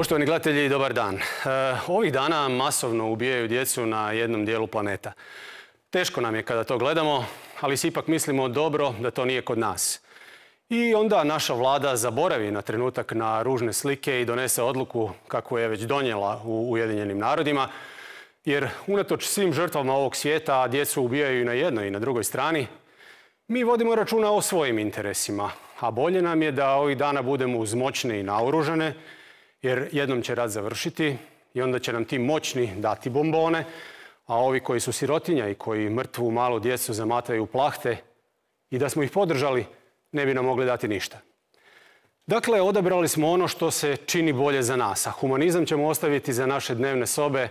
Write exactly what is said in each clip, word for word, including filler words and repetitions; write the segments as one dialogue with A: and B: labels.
A: Poštovani gledatelji, dobar dan. Ovih dana masovno ubijaju djecu na jednom dijelu planeta. Teško nam je kada to gledamo, ali si ipak mislimo dobro da to nije kod nas. I onda naša vlada zaboravi na trenutak na ružne slike i donese odluku kakvu je već donijela u Ujedinjenim narodima, jer unatoč svim žrtvama ovog svijeta, a djecu ubijaju i na jednoj i na drugoj strani, mi vodimo računa o svojim interesima, a bolje nam je da ovih dana budemo uz moćne i naoružane, jer jednom će rat završiti i onda će nam ti moćni dati bombone, a ovi koji su sirotinja i koji mrtvu malu djecu zamataju u plahte i da smo ih podržali, ne bi nam mogli dati ništa. Dakle, odabrali smo ono što se čini bolje za nas, a humanizam ćemo ostaviti za naše dnevne sobe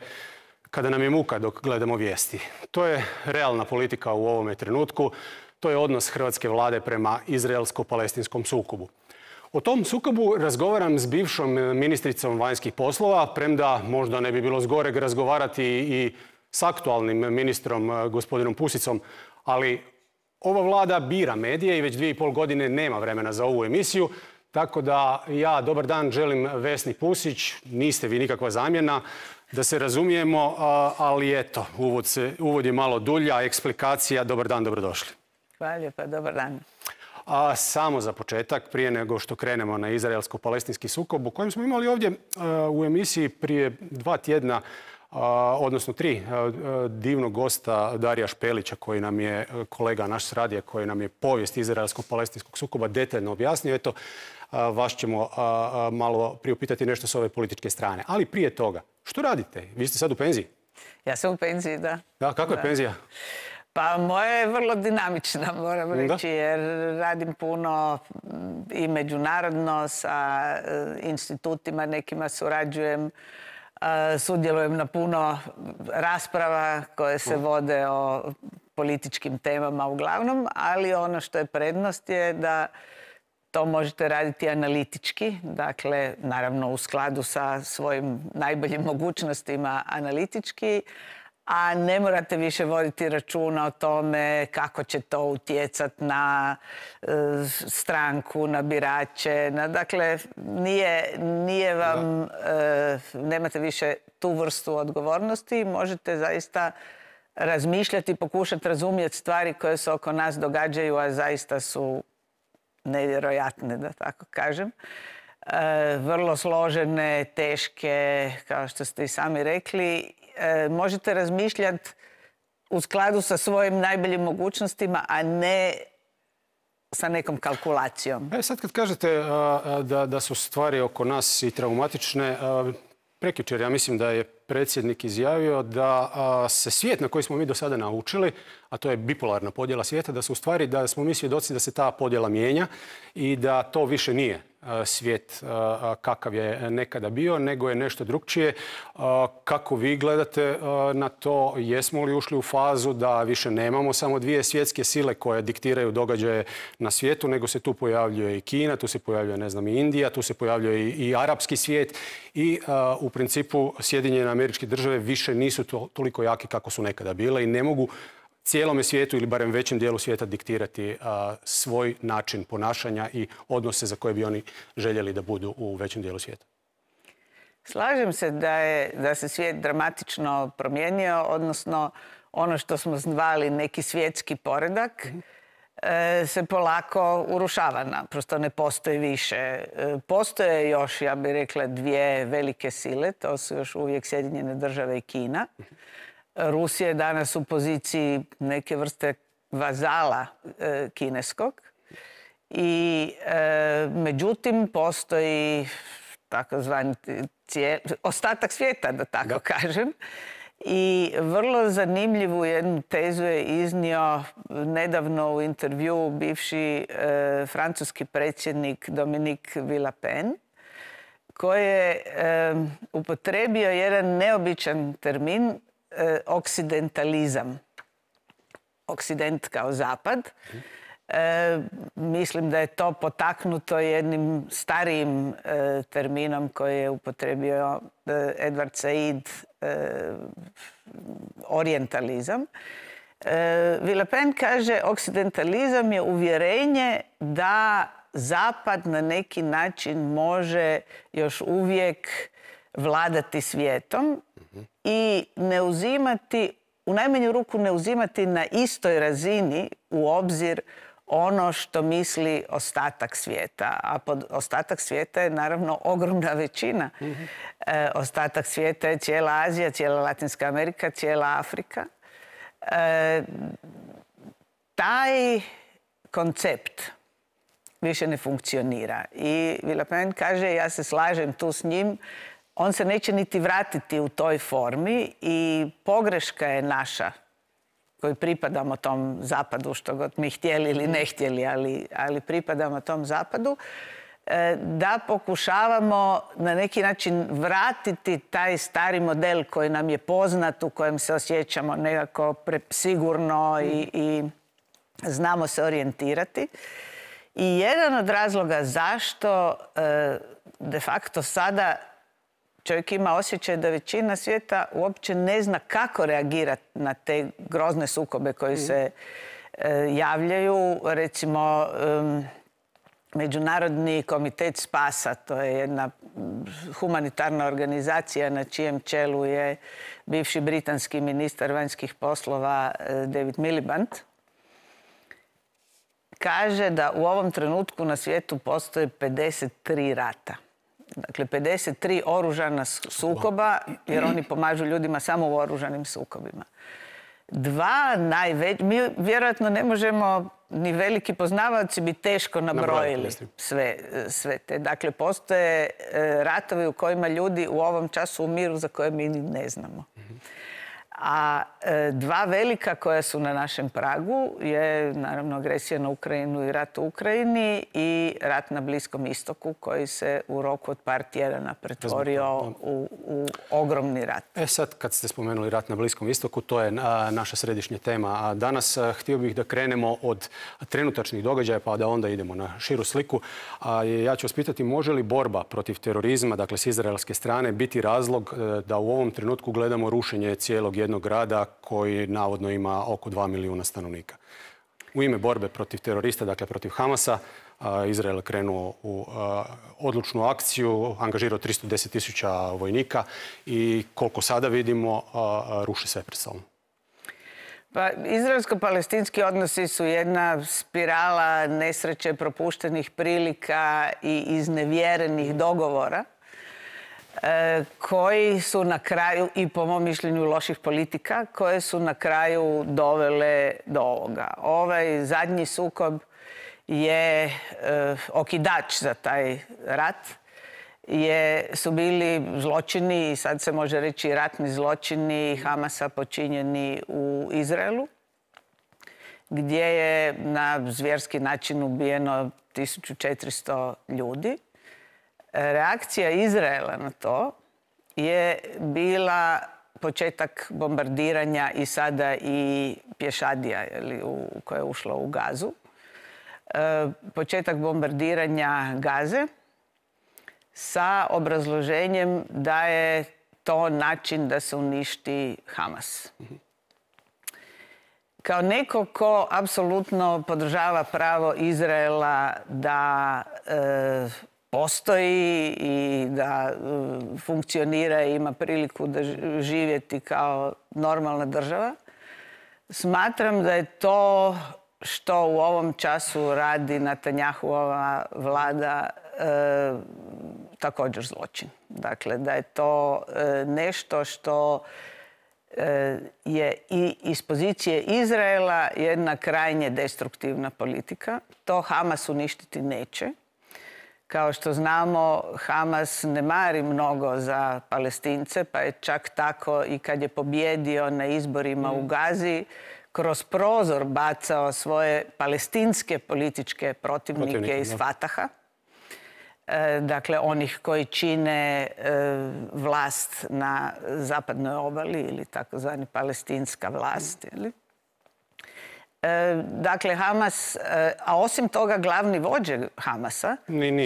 A: kada nam je muka dok gledamo vijesti. To je realna politika u ovome trenutku, to je odnos hrvatske vlade prema izraelsko-palestinskom sukobu. O tom sukobu razgovaram s bivšom ministricom vanjskih poslova, premda možda ne bi bilo zgoreg razgovarati i s aktualnim ministrom gospodinom Pusicom, ali ova vlada bira medije i već dvije i pol godine nema vremena za ovu emisiju, tako da ja dobar dan želim Vesni Pusić, niste vi nikakva zamjena, da se razumijemo, ali eto, uvod, se, uvod je malo dulja, eksplikacija, dobar dan, dobrodošli.
B: Hvala lijepa, dobar dan.
A: A samo za početak, prije nego što krenemo na izraelsko-palestinski sukob, u kojem smo imali ovdje u emisiji prije dva tjedna, odnosno tri, divnog gosta Darija Špelića, koji nam je kolega naš s radija, koji nam je povijest izraelsko-palestinskog sukoba detaljno objasnio. Eto, vas ćemo malo priupitati nešto s ove političke strane. Ali prije toga, što radite? Vi ste sad u penziji?
B: Ja sam u penziji, da.
A: Da, kako je penzija?
B: Pa moja je vrlo dinamična, moram reći, jer radim puno i međunarodno sa institutima, nekima surađujem, sudjelujem na puno rasprava koje se vode o političkim temama uglavnom, ali ono što je prednost je da to možete raditi analitički, dakle, naravno u skladu sa svojim najboljim mogućnostima analitički, a ne morate više voditi računa o tome kako će to utjecati na e, stranku, na birače. Na, dakle, nije, nije vam, e, nemate više tu vrstu odgovornosti. Možete zaista razmišljati, pokušati razumjeti stvari koje se oko nas događaju, a zaista su nevjerojatne, da tako kažem. E, vrlo složene, teške, kao što ste i sami rekli. E, možete razmišljati u skladu sa svojim najboljim mogućnostima, a ne sa nekom kalkulacijom.
A: E, sad kad kažete a, da, da su stvari oko nas i traumatične, a, prekjučer ja mislim da je predsjednik izjavio da a, se svijet na koji smo mi do sada naučili, a to je bipolarna podjela svijeta, da su u stvari, da smo mi svjedoci da se ta podjela mijenja i da to više nije svijet kakav je nekada bio, nego je nešto drugčije. Kako vi gledate na to? Jesmo li ušli u fazu da više nemamo samo dvije svjetske sile koje diktiraju događaje na svijetu, nego se tu pojavljuje i Kina, tu se pojavljuje, ne znam, i Indija, tu se pojavljuje i, i arapski svijet i u principu Sjedinjene Američke Države više nisu to, toliko jaki kako su nekada bile i ne mogu cijelome svijetu ili barem većem dijelu svijeta diktirati a, svoj način ponašanja i odnose za koje bi oni željeli da budu u većem dijelu svijeta.
B: Slažem se da, je, da se svijet dramatično promijenio, odnosno ono što smo zvali neki svjetski poredak mm-hmm. e, se polako urušava. Naprosto ne postoji više. E, postoje još, ja bih rekla, dvije velike sile, to su još uvijek Sjedinjene Države i Kina. Mm-hmm. Rusija je danas u poziciji neke vrste vazala e, kineskog i e, međutim postoji takozvani ostatak svijeta, da tako da. kažem. I vrlo zanimljivu jednu tezu je iznio nedavno u intervjuu bivši e, francuski predsjednik Dominique Villepin, koji je e, upotrijebio jedan neobičan termin, oksidentalizam. Oksident kao zapad. E, mislim da je to potaknuto jednim starijim e, terminom koji je upotrijebio e, Edward Said, e, orijentalizam. E, Villepin kaže, oksidentalizam je uvjerenje da Zapad na neki način može još uvijek vladati svijetom i ne uzimati, u najmanju ruku ne uzimati na istoj razini u obzir ono što misli ostatak svijeta. A pod ostatak svijeta je naravno ogromna većina. Mm-hmm. E, ostatak svijeta je cijela Azija, cijela Latinska Amerika, cijela Afrika. E, taj koncept više ne funkcionira. I Villepin kaže, ja se slažem tu s njim, on se neće niti vratiti u toj formi i pogreška je naša koji pripadamo tom zapadu, što god mi htjeli ili ne htjeli, ali, ali pripadamo tom zapadu, da pokušavamo na neki način vratiti taj stari model koji nam je poznat, u kojem se osjećamo nekako sigurno i, i znamo se orijentirati. I jedan od razloga zašto de facto sada čovjek ima osjećaj da većina svijeta uopće ne zna kako reagirati na te grozne sukobe koji se e, javljaju. Recimo, um, Međunarodni komitet spasa, to je jedna humanitarna organizacija na čijem čelu je bivši britanski ministar vanjskih poslova David Miliband, kaže da u ovom trenutku na svijetu postoje pedeset tri rata. Dakle, pedeset tri oružana sukoba, jer oni pomažu ljudima samo u oružanim sukobima. Dva najveći, mi vjerojatno ne možemo, ni veliki poznavaoci bi teško nabrojili sve, sve te. Dakle, postoje ratovi u kojima ljudi u ovom času umiru za koje mi ne znamo. A dva velika koja su na našem pragu je naravno agresija na Ukrajinu i rat u Ukrajini i rat na Bliskom istoku koji se u roku od par tjedana pretvorio u, u ogromni rat.
A: E sad kad ste spomenuli rat na Bliskom istoku, to je naša središnja tema. A danas htio bih da krenemo od trenutačnih događaja pa da onda idemo na širu sliku. A ja ću vas pitati, može li borba protiv terorizma, dakle s izraelske strane, biti razlog da u ovom trenutku gledamo rušenje cijelog jednog grada koji navodno ima oko dva milijuna stanovnika. U ime borbe protiv terorista, dakle protiv Hamasa, Izrael je krenuo u odlučnu akciju, angažirao tristo deset tisuća vojnika i koliko sada vidimo, ruši sve pred sobom.
B: Pa, izraelsko-palestinski odnosi su jedna spirala nesreće, propuštenih prilika i iznevjerenih dogovora koji su na kraju, i po mom mišljenju loših politika, koje su na kraju dovele do ovoga. Ovaj zadnji sukob je e, okidač za taj rat. Je, su bili zločini, i sad se može reći ratni zločini Hamasa počinjeni u Izraelu, gdje je na zvjerski način ubijeno tisuću četiristo ljudi. Reakcija Izraela na to je bila početak bombardiranja i sada i pješadija koja je ušla u Gazu. Početak bombardiranja Gaze sa obrazloženjem da je to način da se uništi Hamas. Kao neko ko apsolutno podržava pravo Izraela da e, postoji i da uh, funkcionira i ima priliku da živjeti kao normalna država, smatram da je to što u ovom času radi Netanyahuova vlada uh, također zločin. Dakle, da je to uh, nešto što uh, je i iz pozicije Izraela jedna krajnje destruktivna politika. To Hamas uništiti neće. Kao što znamo, Hamas ne mari mnogo za Palestince, pa je čak tako i kad je pobjedio na izborima u Gazi, kroz prozor bacao svoje palestinske političke protivnike, protivnike iz Fataha. E, dakle, onih koji čine e, vlast na zapadnoj obali ili takozvani palestinska vlast. Ili? Dakle, Hamas, a osim toga glavni vođe Hamasa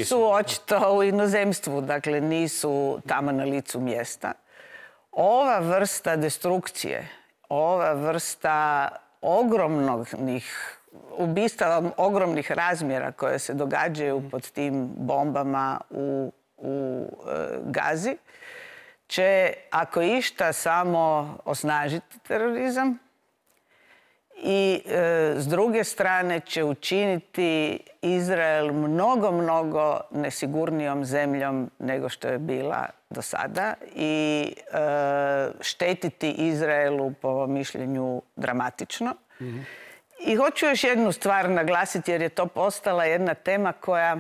B: su očito u inozemstvu, dakle nisu tamo na licu mjesta. Ova vrsta destrukcije, ova vrsta ogromnih ubistava, ogromnih razmjera koje se događaju pod tim bombama u, u Gazi, će, ako išta, samo osnažiti terorizam i e, s druge strane će učiniti Izrael mnogo, mnogo nesigurnijom zemljom nego što je bila do sada i e, štetiti Izraelu, po mišljenju, dramatično. Mm-hmm. I hoću još jednu stvar naglasiti, jer je to postala jedna tema koja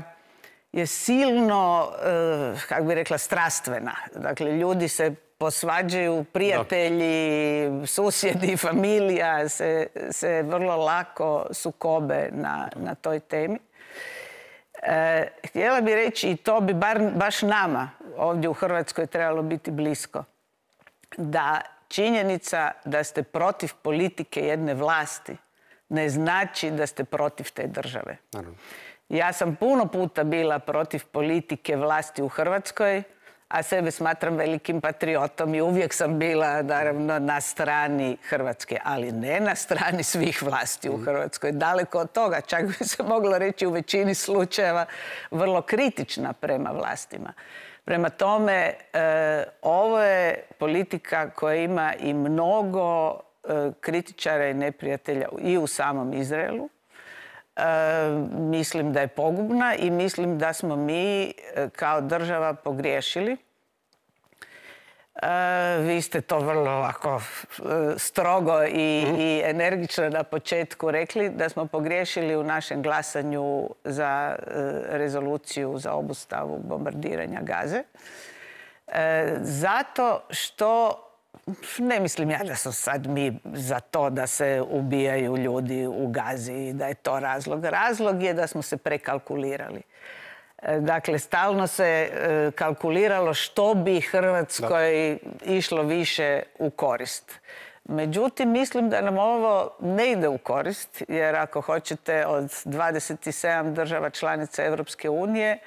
B: je silno, e, kako bi rekla, strastvena. Dakle, ljudi se posvađaju, prijatelji, da. susjedi, familija se, se vrlo lako sukobe na, na toj temi. E, htjela bih reći, i to bi bar, baš nama ovdje u Hrvatskoj trebalo biti blisko, da činjenica da ste protiv politike jedne vlasti ne znači da ste protiv te države. Naravno. Ja sam puno puta bila protiv politike vlasti u Hrvatskoj, a sebe smatram velikim patriotom i uvijek sam bila, naravno, na strani Hrvatske, ali ne na strani svih vlasti u Hrvatskoj. Daleko od toga, čak bi se moglo reći u većini slučajeva vrlo kritična prema vlastima. Prema tome, e, ovo je politika koja ima i mnogo e, kritičara i neprijatelja i u samom Izraelu. E, mislim da je pogubna i mislim da smo mi e, kao država pogriješili. E, vi ste to vrlo ovako e, strogo i, mm. i energično na početku rekli, da smo pogriješili u našem glasanju za e, rezoluciju za obustavu bombardiranja Gaze. E, zato što ne mislim ja da su sad mi za to da se ubijaju ljudi u Gazi i da je to razlog. Razlog je da smo se prekalkulirali. Dakle, stalno se kalkuliralo što bi Hrvatskoj išlo više u korist. Međutim, mislim da nam ovo ne ide u korist, jer ako hoćete od dvadeset sedam država članica Europske unije,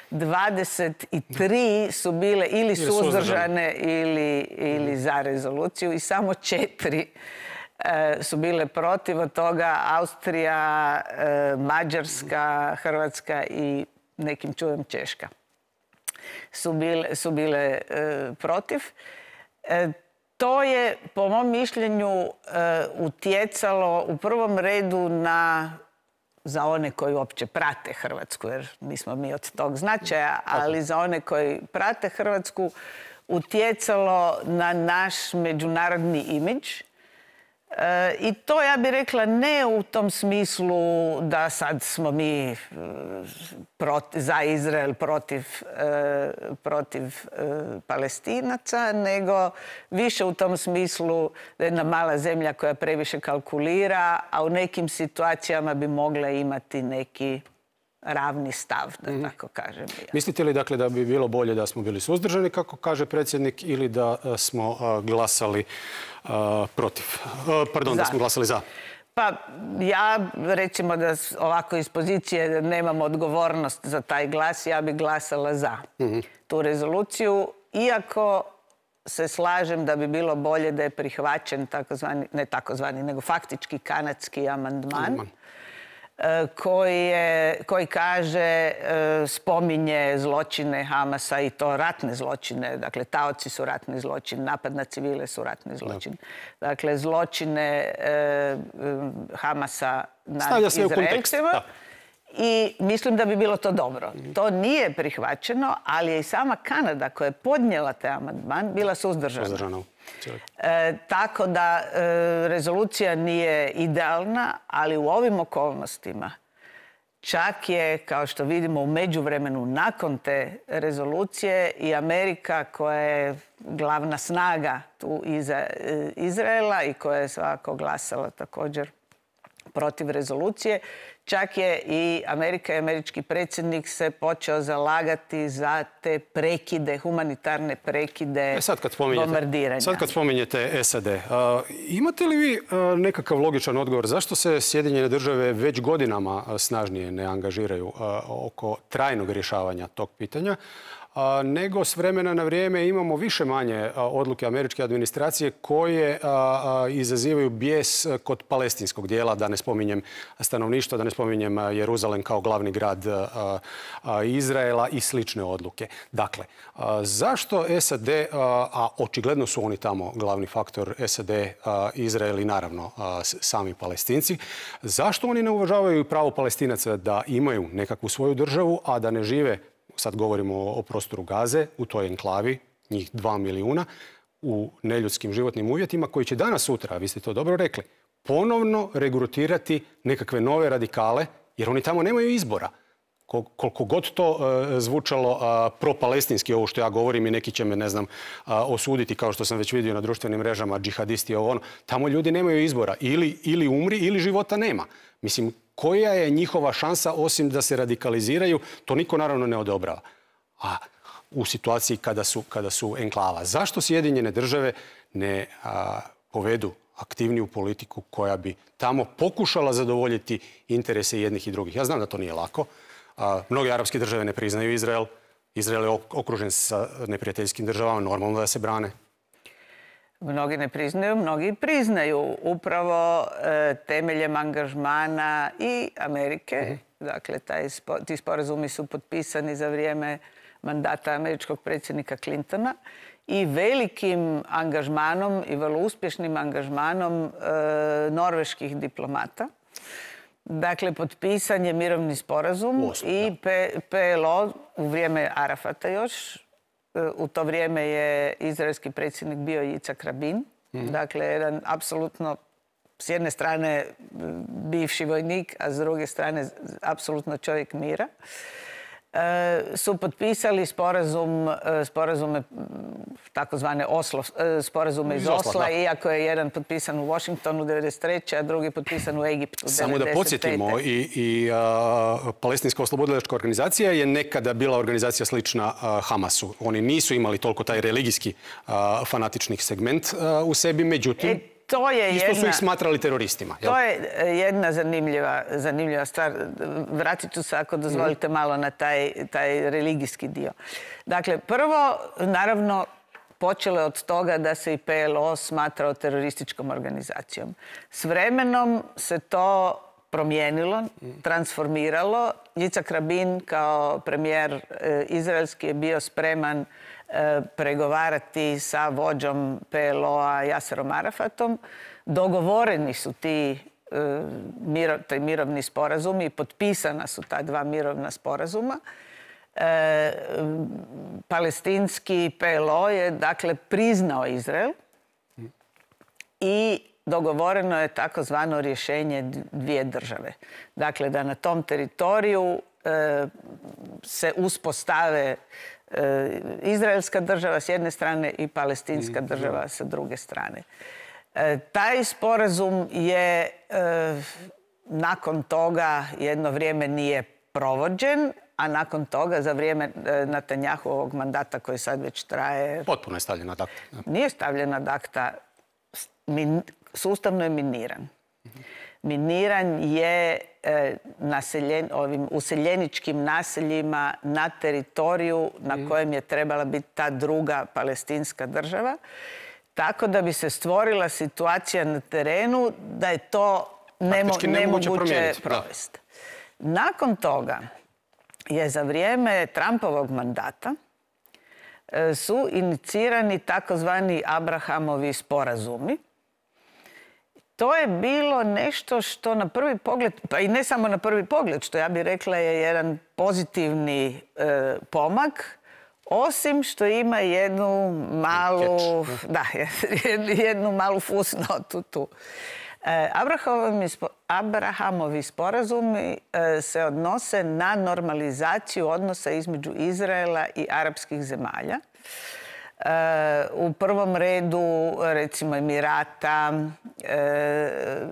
B: dvadeset tri su bile ili suzdržane ili, ili za rezoluciju i samo četiri e, su bile protiv. Od toga Austrija, e, Mađarska, Hrvatska i nekim čudom Češka su bile, su bile e, protiv. E, to je, po mom mišljenju, e, utjecalo u prvom redu na, za one koji uopće prate Hrvatsku, jer nismo mi od tog značaja, ali za one koji prate Hrvatsku, utjecalo na naš međunarodni imidž. E, I to, ja bih rekla, ne u tom smislu da sad smo mi proti, za Izrael protiv, e, protiv e, Palestinaca, nego više u tom smislu da je jedna mala zemlja koja previše kalkulira, a u nekim situacijama bi mogla imati neki ravni stav, da mm. tako kažem.
A: Mislite li, dakle, da bi bilo bolje da smo bili suzdržani, kako kaže predsjednik, ili da smo uh, glasali uh, protiv? Uh, pardon, za. Da smo glasali za?
B: Pa ja, recimo da ovako iz pozicije nemam odgovornost za taj glas, ja bih glasala za mm-hmm. tu rezoluciju, iako se slažem da bi bilo bolje da je prihvaćen takozvani, ne takozvani, nego faktički kanadski amandman. Mm. Koji, je, koji kaže, spominje zločine Hamasa i to ratne zločine. Dakle, taoci su ratni zločin, napad na civile su ratni zločin. Da. Dakle, zločine eh, Hamasa nad Izraelcima. I mislim da bi bilo to dobro. To nije prihvaćeno, ali je i sama Kanada koja je podnijela taj amandman bila suzdržana. Suzdržana. E, tako da e, rezolucija nije idealna, ali u ovim okolnostima čak je, kao što vidimo u međuvremenu nakon te rezolucije, i Amerika, koja je glavna snaga tu iza Izraela i koja je svakako glasala također protiv rezolucije, čak je i Amerika i američki predsjednik se počeo zalagati za te prekide, humanitarne prekide, e sad kad bombardiranja.
A: Sad kad spominjete S A D, a, imate li vi a, nekakav logičan odgovor zašto se Sjedinjene države već godinama a, snažnije ne angažiraju a, oko trajnog rješavanja tog pitanja? nego s vremena na vrijeme imamo više manje odluke američke administracije koje izazivaju bijes kod palestinskog dijela, da ne spominjem stanovništvo, da ne spominjem Jeruzalem kao glavni grad Izraela i slične odluke. Dakle, zašto S A D, a očigledno su oni tamo glavni faktor, S A D, Izrael i naravno sami Palestinci, zašto oni ne uvažavaju pravo Palestinaca da imaju nekakvu svoju državu, a da ne žive, sad govorimo o prostoru Gaze, u toj enklavi, njih dva milijuna, u neljudskim životnim uvjetima, koji će danas sutra, vi ste to dobro rekli, ponovno regrutirati nekakve nove radikale, jer oni tamo nemaju izbora. Koliko god to zvučalo pro-palestinski, ovo što ja govorim, i neki će me, ne znam, osuditi, kao što sam već vidio na društvenim mrežama, džihadisti, ovo ono, tamo ljudi nemaju izbora. Ili, ili umri, ili života nema. Mislim, koja je njihova šansa osim da se radikaliziraju, to niko naravno ne odobrava. A u situaciji kada su, kada su enklava. Zašto Sjedinjene države ne a, povedu aktivniju politiku koja bi tamo pokušala zadovoljiti interese jednih i drugih? Ja znam da to nije lako. A, mnoge arapske države ne priznaju Izrael. Izrael je okružen sa neprijateljskim državama, normalno da se brane.
B: Mnogi ne priznaju, mnogi priznaju upravo e, temeljem angažmana i Amerike. Mm-hmm. Dakle, taj, ti sporazumi su potpisani za vrijeme mandata američkog predsjednika Clintona i velikim angažmanom i vrlo uspješnim angažmanom e, norveških diplomata. Dakle, potpisan je mirovni sporazum Osam, i P L O u vrijeme Arafata još. U to vrijeme je izraelski predsjednik bio Jicak Rabin. Mm. Dakle, jedan apsolutno, s jedne strane bivši vojnik, a s druge strane apsolutno čovjek mira. E, su potpisali sporazum, sporazume, takozvane Oslo, sporazume iz Osla, Osla iako je jedan potpisan u Washingtonu devedeset treće a drugi potpisan u Egiptu
A: Samo devedeset pete. Da podsjetimo, i, i a, Palestinska oslobodilačka organizacija je nekada bila organizacija slična a, Hamasu. Oni nisu imali toliko taj religijski a, fanatičnih segment a, u sebi, međutim... E,
B: To je
A: Isto
B: jedna,
A: su ih smatrali teroristima. Jel?
B: To je jedna zanimljiva, zanimljiva stvar. Vratit ću se, ako dozvolite, malo na taj, taj religijski dio. Dakle, prvo, naravno, počelo je od toga da se i P L O smatrao terorističkom organizacijom. S vremenom se to promijenilo, transformiralo. Jicak Rabin kao premijer izraelski je bio spreman pregovarati sa vođom P L O-a Jaserom Arafatom. Dogovoreni su ti miro, taj mirovni sporazumi i potpisana su ta dva mirovna sporazuma. E, palestinski P L O je dakle priznao Izrael i dogovoreno je takozvano rješenje dvije države. Dakle, da na tom teritoriju e, se uspostave izraelska država s jedne strane i palestinska država sa druge strane. E, taj sporazum je e, nakon toga jedno vrijeme nije provođen, a nakon toga za vrijeme e, Netanjahuovog mandata koji sad već traje...
A: Potpuno je stavljen ad acta.
B: Nije stavljen ad acta, min, sustavno je miniran. Miniran je e, naseljen, ovim useljeničkim naseljima na teritoriju na kojem je trebala biti ta druga palestinska država. Tako da bi se stvorila situacija na terenu da je to nemo, nemoguće provesti. Nakon toga je za vrijeme Trumpovog mandata e, su inicirani takozvani Abrahamovi sporazumi. To je bilo nešto što na prvi pogled, pa i ne samo na prvi pogled, što ja bih rekla je jedan pozitivni e, pomak, osim što ima jednu malu, da, jednu malu fusnotu tu. E, Abrahamovi, Abrahamovi sporazumi e, se odnose na normalizaciju odnosa između Izraela i arapskih zemalja. U prvom redu, recimo, Emirata,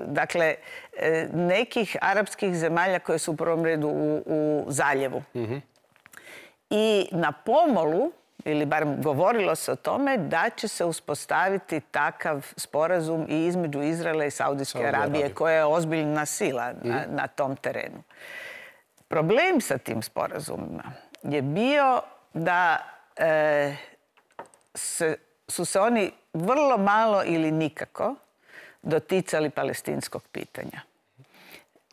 B: dakle, nekih arapskih zemalja koje su u prvom redu u, u zaljevu. Mm-hmm. I na pomolu, ili barem govorilo se o tome, da će se uspostaviti takav sporazum i između Izraela i Saudijske Saudi Arabije, Arabije, koja je ozbiljna sila mm-hmm. na, na tom terenu. Problem sa tim sporazumima je bio da e, se, su se oni vrlo malo ili nikako doticali palestinskog pitanja.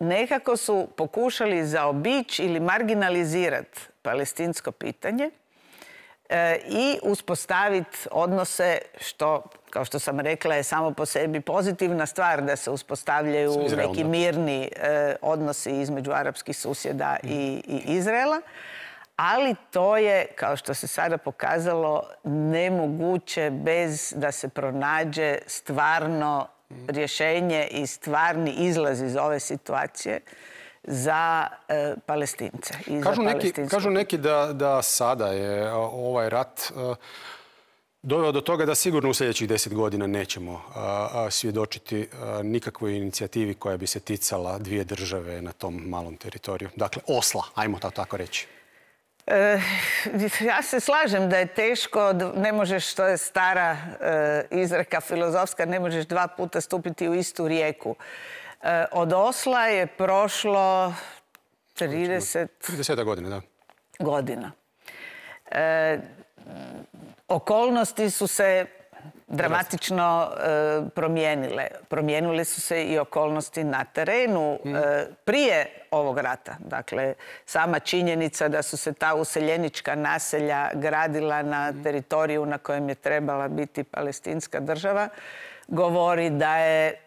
B: Nekako su pokušali zaobići ili marginalizirati palestinsko pitanje e, i uspostaviti odnose, što, kao što sam rekla, je samo po sebi pozitivna stvar da se uspostavljaju neki mirni e, odnosi između arapskih susjeda i, i Izraela. Ali to je, kao što se sada pokazalo, nemoguće bez da se pronađe stvarno rješenje i stvarni izlaz iz ove situacije za e, Palestince. I
A: kažu,
B: za
A: neki, kažu neki da, da sada je ovaj rat uh, doveo do toga da sigurno u sljedećih deset godina nećemo uh, svjedočiti uh, nikakvoj inicijativi koja bi se ticala dvije države na tom malom teritoriju. Dakle, Osla, ajmo to tako reći.
B: E, ja se slažem da je teško, ne možeš, to je stara e, izreka filozofska, ne možeš dva puta stupiti u istu rijeku. E, od Osla je prošlo trideset...
A: trideset godina, da.
B: Godina. E, okolnosti su se dramatično e, promijenile. Promijenile su se i okolnosti na terenu mm. e, prije ovog rata. Dakle, sama činjenica da su se ta useljenička naselja gradila na mm. teritoriju na kojem je trebala biti palestinska država, govori da je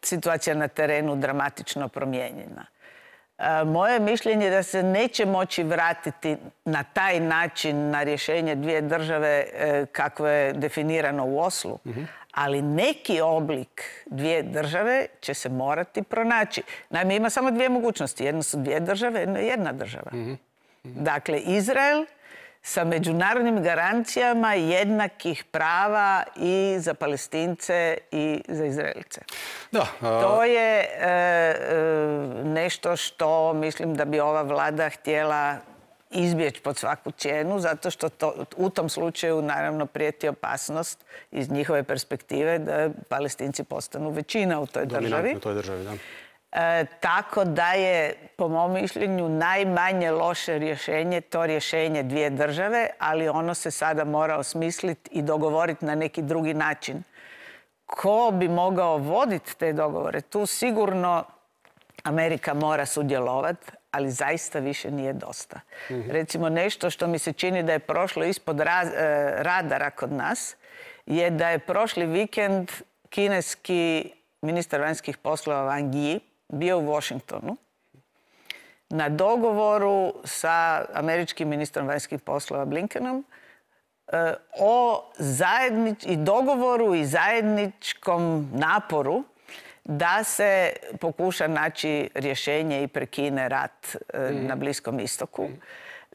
B: situacija na terenu dramatično promijenjena. E, moje mišljenje je da se neće moći vratiti na taj način na rješenje dvije države e, kako je definirano u Oslu, mm-hmm. ali neki oblik dvije države će se morati pronaći. Naime, ima samo dvije mogućnosti. Jedno su dvije države, jedno je jedna država. Mm-hmm. Mm-hmm. Dakle, Izrael sa međunarodnim garancijama jednakih prava i za Palestince i za Izraelce.
A: Da, a...
B: To je e, e, nešto što mislim da bi ova vlada htjela izbjeći pod svaku cijenu, zato što to, u tom slučaju naravno prijeti opasnost iz njihove perspektive da Palestinci postanu većina u toj državi.
A: U toj državi, da.
B: E, tako da je, po mom mišljenju, najmanje loše rješenje to rješenje dvije države, ali ono se sada mora osmisliti i dogovoriti na neki drugi način. Ko bi mogao voditi te dogovore? Tu sigurno Amerika mora sudjelovati, ali zaista više nije dosta. Mm-hmm. Recimo, nešto što mi se čini da je prošlo ispod raz, e, radara kod nas je da je prošli vikend kineski ministar vanjskih poslova Wang Yi bio u Washingtonu na dogovoru sa američkim ministrom vanjskih poslova Blinkenom e, o zajednič, i dogovoru i zajedničkom naporu da se pokuša naći rješenje i prekine rat e, mm. na Bliskom istoku. Mm.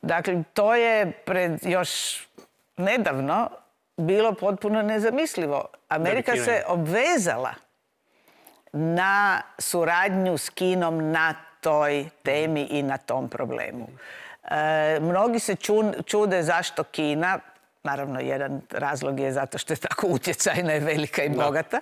B: Dakle, to je pred još nedavno bilo potpuno nezamislivo. Amerika se obvezala na suradnju s Kinom na toj temi i na tom problemu. E, mnogi se čude zašto Kina, naravno jedan razlog je zato što je tako utjecajna i velika i bogata.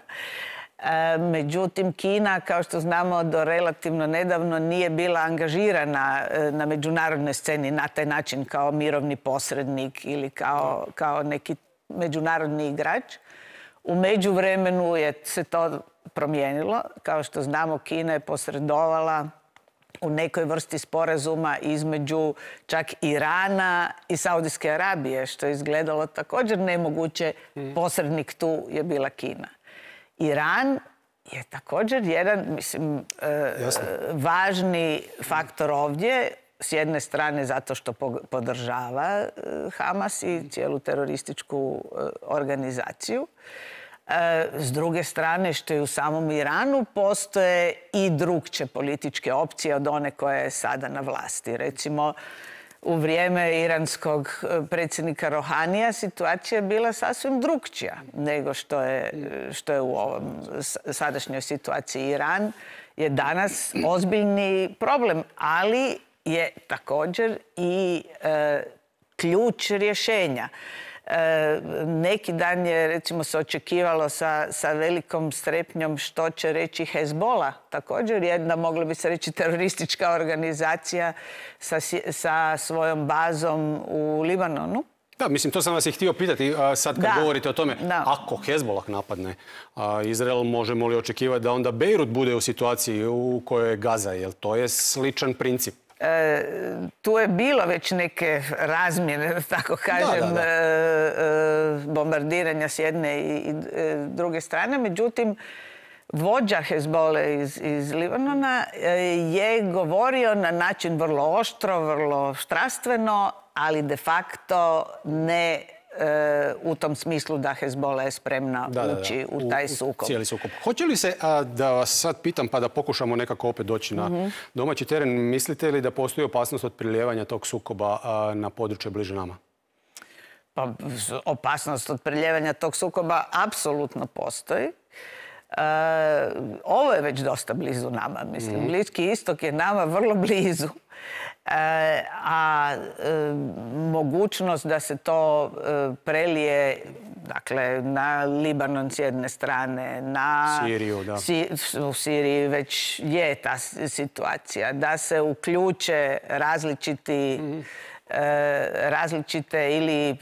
B: E, međutim, Kina, kao što znamo, do relativno nedavno nije bila angažirana e, na međunarodnoj sceni na taj način kao mirovni posrednik ili kao, kao neki međunarodni igrač. U međuvremenu je se to promijenilo. Kao što znamo, Kina je posredovala u nekoj vrsti sporazuma između čak Irana i Saudijske Arabije, što je izgledalo također nemoguće. Mm. Posrednik tu je bila Kina. Iran je također jedan, mislim, e, važni faktor ovdje. S jedne strane zato što podržava Hamas i cijelu terorističku organizaciju. S druge strane, što je u samom Iranu postoje i drugče političke opcije od one koja je sada na vlasti. Recimo, u vrijeme iranskog predsjednika Rohanija situacija je bila sasvim drugčija nego što je, što je u ovom sadašnjoj situaciji. Iran je danas ozbiljni problem, ali je također i e, ključ rješenja. Neki dan je, recimo, se očekivalo sa, sa velikom strepnjom što će reći Hezbollah. Također jedna, mogla bi se reći, teroristička organizacija sa, sa svojom bazom u Libanonu.
A: Da, mislim, to sam vas i htio pitati sad kad
B: da,
A: govorite o tome.
B: Da.
A: Ako Hezbollah napadne Izrael, možemo li očekivati da onda Bejrut bude u situaciji u kojoj je Gaza? Jel to je sličan princip?
B: E, tu je bilo već neke razmjene, da tako kažem,
A: da, da, da.
B: E, bombardiranja s jedne i, i druge strane. Međutim, vođa Hezbolle iz, iz Libanona je govorio na način vrlo oštro, vrlo strastveno, ali de facto ne e, u tom smislu da Hezbollah je spremna
A: da, da,
B: ući
A: da.
B: u taj sukob.
A: U cijeli sukob. Hoće li se, a, da vas sad pitam pa da pokušamo nekako opet doći na mm-hmm. domaći teren, mislite li da postoji opasnost od priljevanja tog sukoba a, na područje bliže nama?
B: Pa opasnost od priljevanja tog sukoba apsolutno postoji. Uh, ovo je već dosta blizu nama. Mislim, mm. Bliski istok je nama vrlo blizu. Uh, a uh, mogućnost da se to uh, prelije, dakle, na Libanon s jedne strane, na
A: Siriju, da.
B: Si, u Siriji već je ta situacija, da se uključe različiti mm. različite ili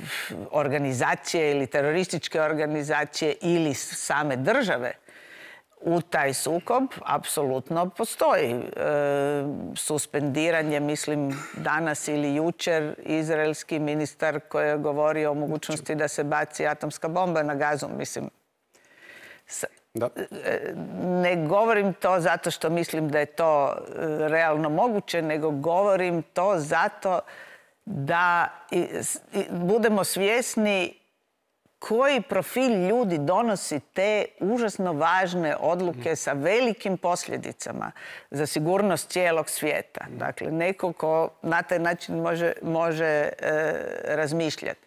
B: organizacije ili terorističke organizacije ili same države u taj sukob, apsolutno postoji. E, suspendiranje, mislim, danas ili jučer, izraelski ministar koji je govorio o mogućnosti da se baci atomska bomba na Gazu, mislim. Da. Ne govorim to zato što mislim da je to realno moguće, nego govorim to zato da budemo svjesni koji profil ljudi donosi te užasno važne odluke sa velikim posljedicama za sigurnost cijelog svijeta. Dakle, neko ko na taj način može, može e, razmišljati.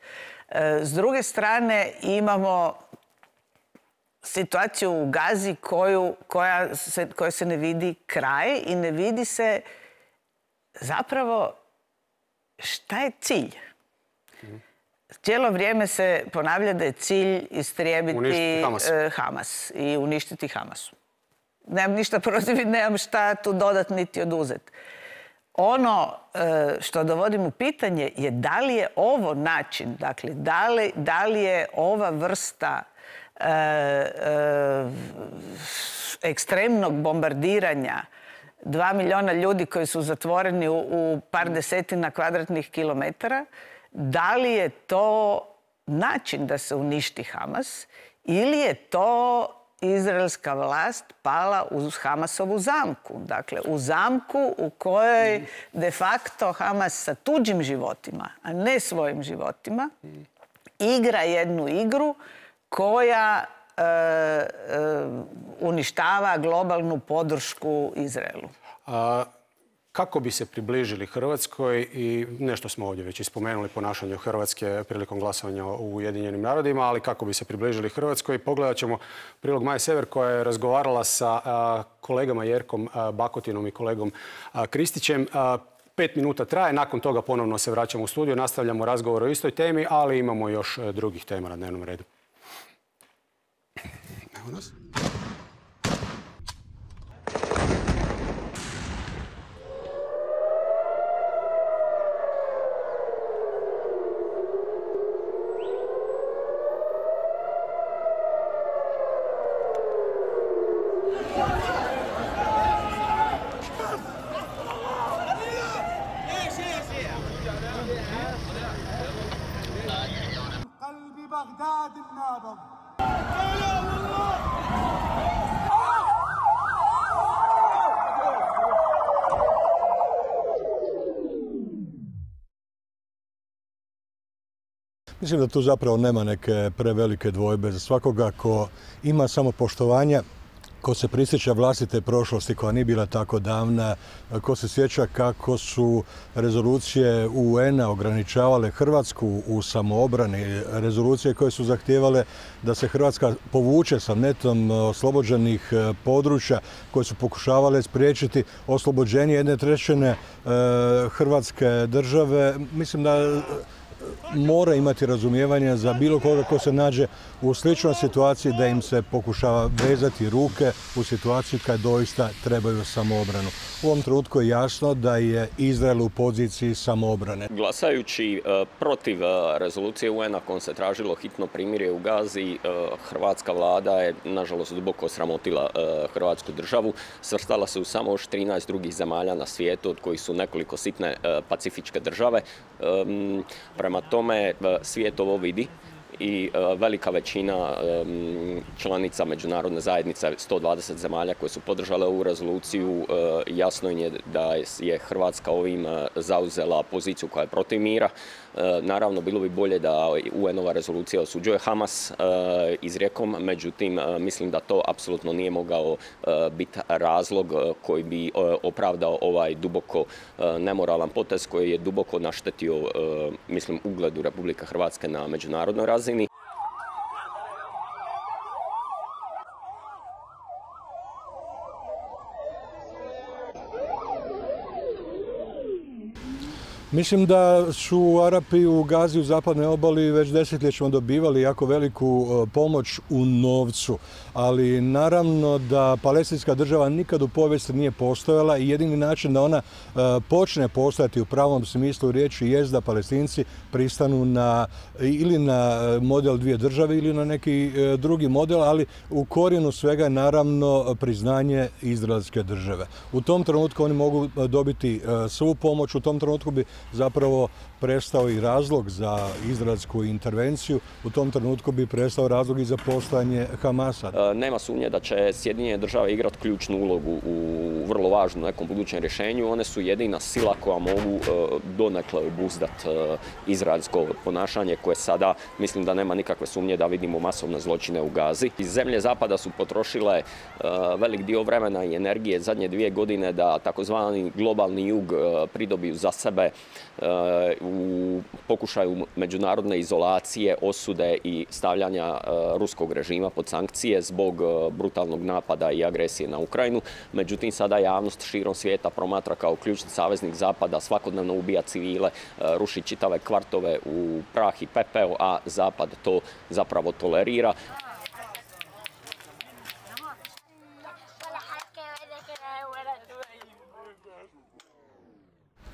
B: E, s druge strane, imamo situaciju u Gazi koju, koja se, koja se ne vidi kraj i ne vidi se zapravo šta je cilj. Cijelo vrijeme se ponavlja da je cilj istrijebiti Hamas. Hamas i uništiti Hamasu. Nemam ništa protiv, nemam šta tu dodat niti oduzeti. Ono što dovodim u pitanje je da li je ovo način, dakle, da li, da li je ova vrsta e, e, ekstremnog bombardiranja dva milijuna ljudi koji su zatvoreni u, u par desetina kvadratnih kilometara, da li je to način da se uništi Hamas ili je to izraelska vlast pala u Hamasovu zamku. Dakle, u zamku u kojoj de facto Hamas sa tuđim životima, a ne svojim životima, igra jednu igru koja e, e, uništava globalnu podršku Izraelu.
A: A kako bi se približili Hrvatskoj, i nešto smo ovdje već ispomenuli ponašanje Hrvatske prilikom glasovanja u Ujedinjenim narodima, ali kako bi se približili Hrvatskoj, pogledat ćemo prilog Maje Sever koja je razgovarala sa a, kolegama Jerkom a, Bakotinom i kolegom a, Kristićem. A, pet minuta traje, nakon toga ponovno se vraćamo u studio, nastavljamo razgovor o istoj temi, ali imamo još drugih tema na dnevnom redu. Evo nas.
C: Mislim da tu zapravo nema neke prevelike dvojbe za svakoga ko ima samopoštovanja, ko se prisjeća vlastite prošlosti koja nije bila tako davna, ko se sjeća kako su rezolucije U N-a ograničavale Hrvatsku u samoobrani, rezolucije koje su zahtijevale da se Hrvatska povuče sa netom oslobođenih područja, koje su pokušavale spriječiti oslobođenje jedne trećine Hrvatske države. Mislim da mora imati razumijevanja za bilo koga ko se nađe u sličnoj situaciji, da im se pokušava vezati ruke u situaciji kad doista trebaju samoobranu. U ovom trenutku je jasno da je Izrael u poziciji samoobrane.
D: Glasajući protiv rezolucije U N-a kojom se tražilo hitno primirje u Gazi, hrvatska vlada je nažalost duboko sramotila Hrvatsku državu. Svrstala se u samo još trinaest drugih zemalja na svijetu, od kojih su nekoliko sitne pacifičke države. Prema tome svijet ovo vidi i velika većina članica međunarodne zajednice, sto dvadeset zemalja koje su podržale ovu rezoluciju, jasno je da je Hrvatska ovim zauzela poziciju koja je protiv mira. Naravno, bilo bi bolje da U N-ova rezolucija osuđuje Hamas izrijekom, međutim, mislim da to apsolutno nije mogao biti razlog koji bi opravdao ovaj duboko nemoralan potez koji je duboko naštetio, mislim, ugledu Republike Hrvatske na međunarodnoj razini.
C: Mislim da su Arapi u Gazi, u zapadnoj obali, već desetljećima dobivali jako veliku pomoć u novcu. Ali naravno da palestinska država nikad u povijesti nije postojala i jedini način da ona počne postojati u pravom smislu riječi jest da Palestinci pristanu na ili na model dvije države ili na neki drugi model, ali u korijenu svega je naravno priznanje izraelske države. U tom trenutku oni mogu dobiti svu pomoć, u tom trenutku bi zapravo prestao i razlog za izraelsku intervenciju, u tom trenutku bi prestao razlog i za postojanje Hamasa.
D: Nema sumnje da će Sjedinjene države igrati ključnu ulogu u vrlo važnom nekom budućem rješenju. One su jedina sila koja mogu donekle obuzdati izraelsko ponašanje koje sada, mislim da nema nikakve sumnje da vidimo masovne zločine u Gazi. Iz zemlje Zapada su potrošile velik dio vremena i energije zadnje dvije godine da takozvani globalni jug pridobiju za sebe u pokušaju međunarodne izolacije, osude i stavljanja ruskog režima pod sankcije zbog brutalnog napada i agresije na Ukrajinu. Međutim, sada javnost širom svijeta promatra kao ključni saveznik Zapada, svakodnevno ubija civile, ruši čitave kvartove u prah i pepeo, a Zapad to zapravo tolerira.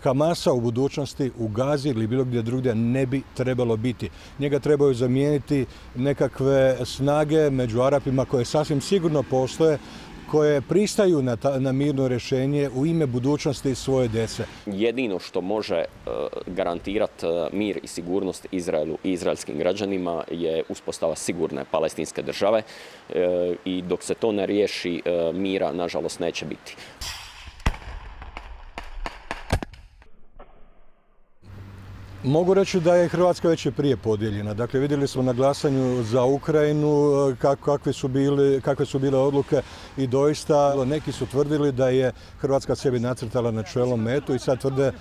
C: Hamasa u budućnosti u Gazi ili bilo gdje drugdje ne bi trebalo biti. Njega trebaju zamijeniti nekakve snage među Arapima koje sasvim sigurno postoje, koje pristaju na, ta, na mirno rješenje u ime budućnosti svoje djece.
D: Jedino što može uh, garantirati uh, mir i sigurnost Izraelu i izraelskim građanima je uspostava sigurne palestinske države uh, i dok se to ne riješi, uh, mira nažalost neće biti.
C: Mogu reći da je Hrvatska već i prije podijeljena. Dakle, vidjeli smo na glasanju za Ukrajinu kakve su bile, kakve su bile odluke i doista neki su tvrdili da je Hrvatska sebi nacrtala na čelo metu i sad tvrde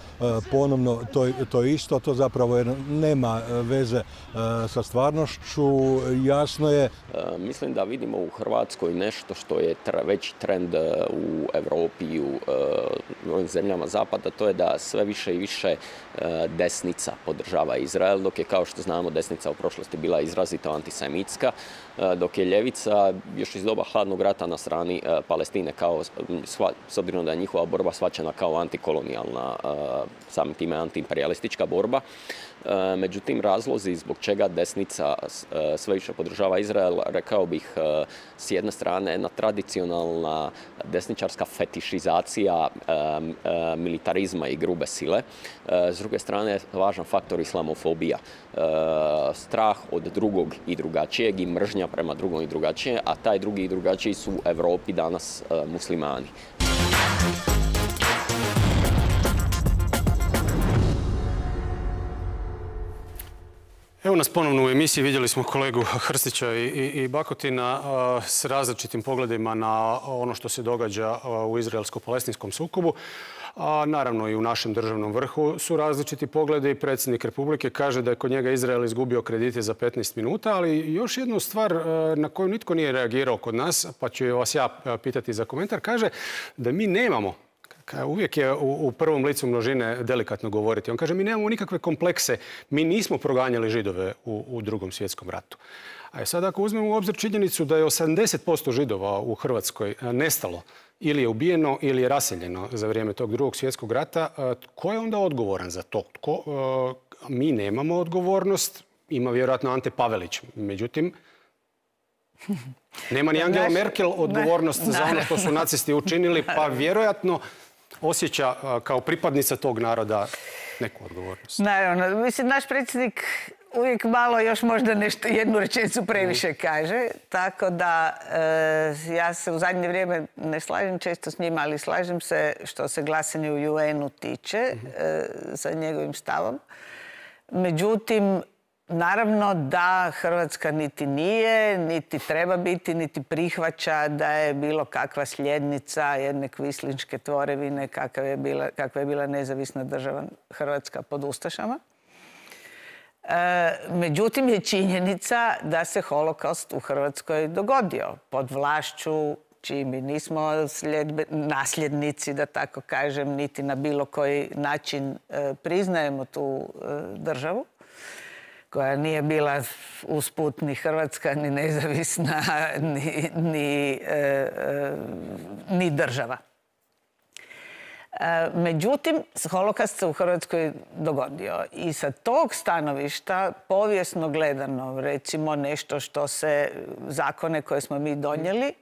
C: ponovno to, to isto. To zapravo je, nema veze sa stvarnošću. Jasno je.
D: Mislim da vidimo u Hrvatskoj nešto što je veći trend u Europi i u ovim zemljama Zapada. To je da sve više i više desnica podržava Izrael, dok je, kao što znamo, desnica u prošlosti bila izrazito antisemitska, dok je ljevica još iz doba hladnog rata na strani Palestine, kao, s obzirom da je njihova borba shvaćena kao antikolonijalna, samim time antiimperialistička borba. Međutim, razlozi zbog čega desnica sve više podržava Izrael, rekao bih, s jedne strane jedna tradicionalna desničarska fetišizacija militarizma i grube sile, s druge strane važan faktor islamofobija, strah od drugog i drugačijeg i mržnja prema drugom i drugačijem, a taj drugi i drugačiji su u Europi danas muslimani.
A: Evo nas ponovno u emisiji, vidjeli smo kolegu Hrstića i, i, i Bakotina a, s različitim pogledima na ono što se događa a, u izraelsko-palestinskom sukobu. A naravno i u našem državnom vrhu su različiti pogledi. Predsjednik Republike kaže da je kod njega Izrael izgubio kredite za petnaest minuta, ali još jednu stvar a, na koju nitko nije reagirao kod nas, pa ću vas ja pitati za komentar, kaže da mi nemamo Uvijek je u prvom licu množine delikatno govoriti. On kaže, mi nemamo nikakve komplekse, mi nismo proganjali Židove u drugom svjetskom ratu. A sad ako uzmemo u obzir činjenicu da je osamdeset posto Židova u Hrvatskoj nestalo, ili je ubijeno ili je raseljeno za vrijeme tog drugog svjetskog rata, tko je onda odgovoran za to? Tko, mi nemamo odgovornost, ima vjerojatno Ante Pavelić. Međutim, nema ni Angela Merkel odgovornost za ono što su nacisti učinili, pa vjerojatno osjeća kao pripadnica tog naroda neku odgovornost.
B: Naravno, mislim, naš predsjednik uvijek malo još možda nešto, jednu rečenicu previše kaže, tako da ja se u zadnje vrijeme ne slažem često s njima, ali slažem se što se glasanje u ju enu tiče sa njegovim stavom. Međutim, naravno da Hrvatska niti nije, niti treba biti, niti prihvaća da je bilo kakva sljednica jedne kvislinške tvorevine kakva je bila, kakva je bila nezavisna država Hrvatska pod ustašama. Međutim, je činjenica da se holokaust u Hrvatskoj dogodio pod vlašću čiji mi nismo nasljednici, da tako kažem, niti na bilo koji način priznajemo tu državu, koja nije bila usput ni Hrvatska, ni nezavisna, ni, ni, e, ni država. E, međutim, holokaust se u Hrvatskoj dogodio i sa tog stanovišta, povijesno gledano, recimo nešto što se, zakone koje smo mi donijeli,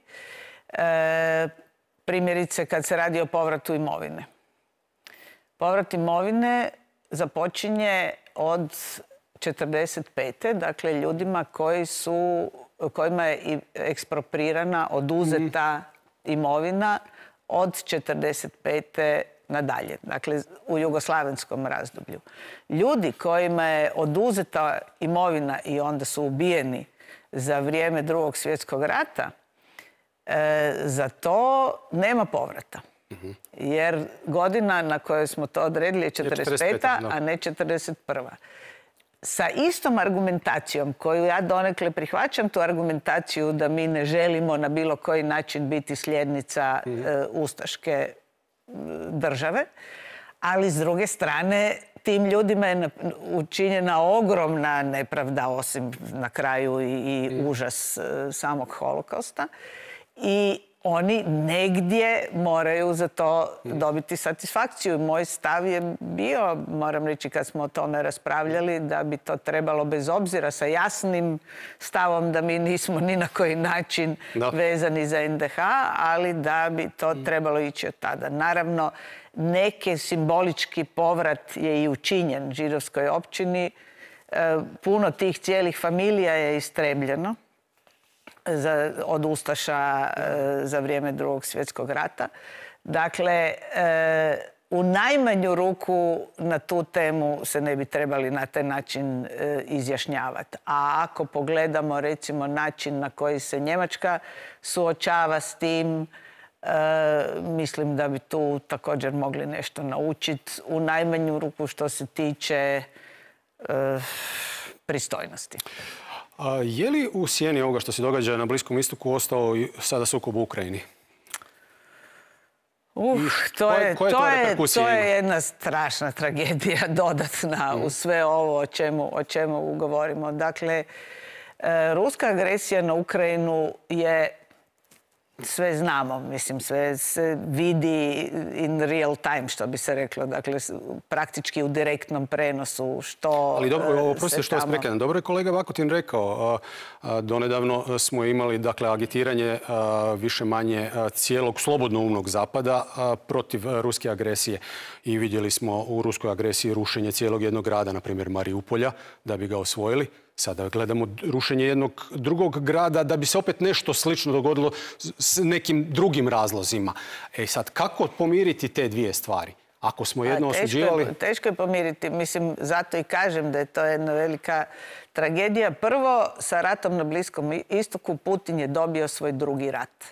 B: e, primjerice kad se radi o povratu imovine. Povrat imovine započinje od četrdeset pete. Dakle, ljudima koji su, kojima je eksproprirana, oduzeta imovina od četrdeset pete nadalje. Dakle, u jugoslavenskom razdoblju. Ljudi kojima je oduzeta imovina i onda su ubijeni za vrijeme Drugog svjetskog rata, e, za to nema povrata. Jer godina na kojoj smo to odredili je četrdeset peta. a ne četrdeset prva. Sa istom argumentacijom koju ja donekle prihvaćam, tu argumentaciju da mi ne želimo na bilo koji način biti sljednica e, ustaške države, ali s druge strane tim ljudima je učinjena ogromna nepravda, osim na kraju i, i užas e, samog holokausta. I oni negdje moraju za to dobiti satisfakciju. Moj stav je bio, moram reći kad smo o tome raspravljali, da bi to trebalo bez obzira sa jasnim stavom da mi nismo ni na koji način no. vezani za en de ha, ali da bi to trebalo ići od tada. Naravno, neki simbolički povrat je i učinjen židovskoj općini. Puno tih cijelih familija je istrebljeno Za, od ustaša e, za vrijeme Drugog svjetskog rata. Dakle, e, u najmanju ruku na tu temu se ne bi trebali na taj način e, izjašnjavati. A ako pogledamo recimo način na koji se Njemačka suočava s tim, e, mislim da bi tu također mogli nešto naučiti. U najmanju ruku što se tiče e, pristojnosti.
A: A je li u sjeni ovoga što se događa na Bliskom istoku ostao sada sukob u Ukrajini?
B: Uh, to, je, koje, to, je, to je jedna strašna tragedija dodatna mm. u sve ovo o čemu, o čemu govorimo. Dakle, e, ruska agresija na Ukrajinu je, sve znamo, mislim, sve se vidi in real time, što bi se reklo. Dakle, praktički u direktnom prenosu što
A: Ali dobro, oprostite što vas
B: tamo...
A: prekidam. Dobro je kolega Vakutin rekao. Donedavno smo imali, dakle, agitiranje više manje cijelog slobodnoumnog zapada protiv ruske agresije. I vidjeli smo u ruskoj agresiji rušenje cijelog jednog grada, na primjer Mariupolja, da bi ga osvojili. Sada gledamo rušenje jednog drugog grada da bi se opet nešto slično dogodilo s nekim drugim razlozima. E sad, kako pomiriti te dvije stvari? Ako smo jedno osuđivali...
B: Teško je, teško je pomiriti. Mislim, zato i kažem da je to jedna velika tragedija. Prvo, sa ratom na Bliskom istoku Putin je dobio svoj drugi rat.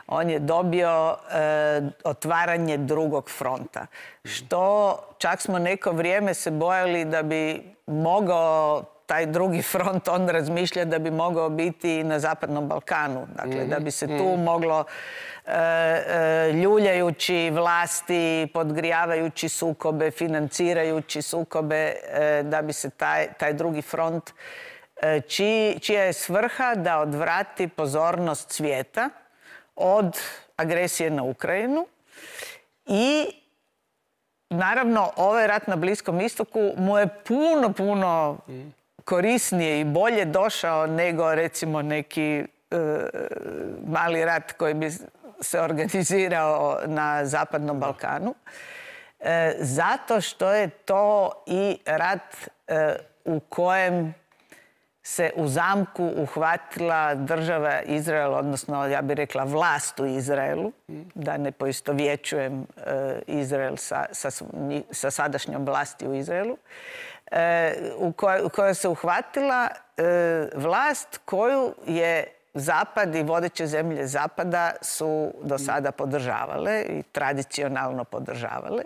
B: On je dobio e, otvaranje drugog fronta. Što čak smo neko vrijeme se bojali da bi mogao taj drugi front on razmišlja da bi mogao biti i na Zapadnom Balkanu. Dakle, da bi se tu moglo ljuljajući vlasti, podgrijavajući sukobe, financirajući sukobe, da bi se taj, taj drugi front, čiji, čija je svrha da odvrati pozornost svijeta od agresije na Ukrajinu. I naravno, ovaj rat na Bliskom istoku mu je puno, puno korisnije i bolje došao nego recimo neki uh, mali rat koji bi se organizirao na Zapadnom Balkanu. E, zato što je to i rat e, u kojem se u zamku uhvatila država Izrael, odnosno ja bih rekla vlast u Izraelu, da ne poistovjećujem e, Izrael sa, sa, sa sadašnjom vlasti u Izraelu, e, u, koj, u kojoj se uhvatila e, vlast koju je Zapad i vodeće zemlje Zapada su do sada podržavale i tradicionalno podržavale.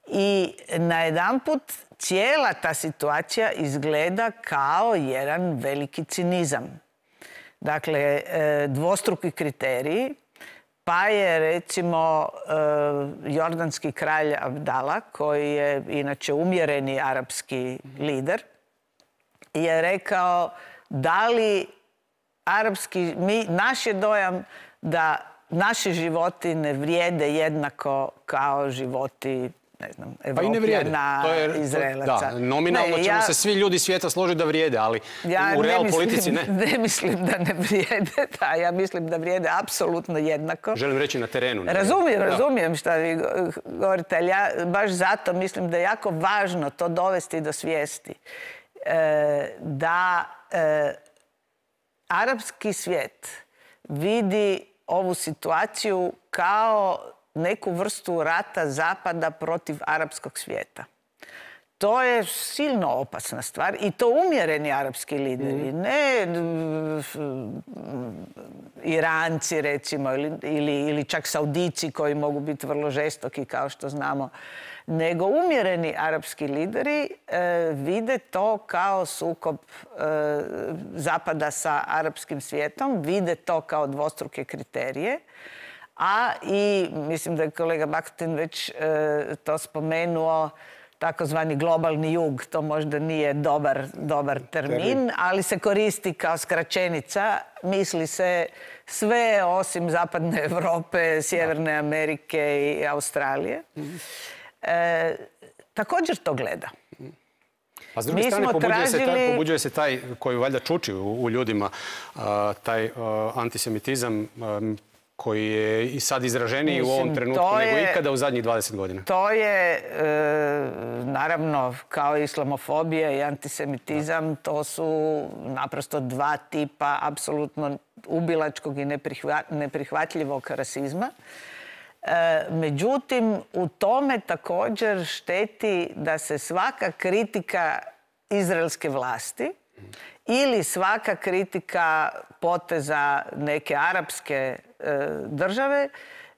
B: I najedanput cijela ta situacija izgleda kao jedan veliki cinizam. Dakle, dvostruki kriteriji, pa je recimo jordanski kralj Abdala, koji je inače umjereni arapski lider, je rekao da li arapski, mi, naš je dojam da naši životi ne vrijede jednako kao životi, ne znam, Evropljana,
A: pa i
B: Izraelaca.
A: Da, nominalno ne, ćemo ja, se svi ljudi svijeta složiti da vrijede, ali
B: ja
A: u real
B: ne
A: politici ne.
B: Ne mislim da ne vrijede, da, ja mislim da vrijede apsolutno jednako.
A: Želim reći na terenu. Ne?
B: Razumijem, razumijem šta vi govorite, ali ja baš zato mislim da je jako važno to dovesti do svijesti. E, da e, arapski svijet vidi ovu situaciju kao neku vrstu rata Zapada protiv arapskog svijeta. To je silno opasna stvar i to umjereni arapski lideri, mm. ne Iranci recimo ili, ili, ili čak Saudici koji mogu biti vrlo žestoki kao što znamo, nego umjereni arapski lideri e, vide to kao sukob e, Zapada sa arapskim svijetom, vide to kao dvostruke kriterije. A i, mislim da je kolega Bakutin već e, to spomenuo, takozvani globalni jug, to možda nije dobar, dobar termin, ali se koristi kao skraćenica. Misli se sve osim Zapadne Europe, Sjeverne Amerike i Australije. E, također to gleda.
A: A s druge
B: Mi
A: strane, pobuđuje,
B: tražili...
A: se taj, pobuđuje se taj koji valjda čuči u, u ljudima, a, taj a, antisemitizam a, koji je i sad izraženiji Mislim, u ovom trenutku je, nego ikada u zadnjih dvadeset godina.
B: To je, e, naravno, kao islamofobija i antisemitizam, da. To su naprosto dva tipa apsolutno ubilačkog i neprihva, neprihvatljivog rasizma. E, međutim, u tome također šteti da se svaka kritika izraelske vlasti ili svaka kritika poteza neke arapske e, države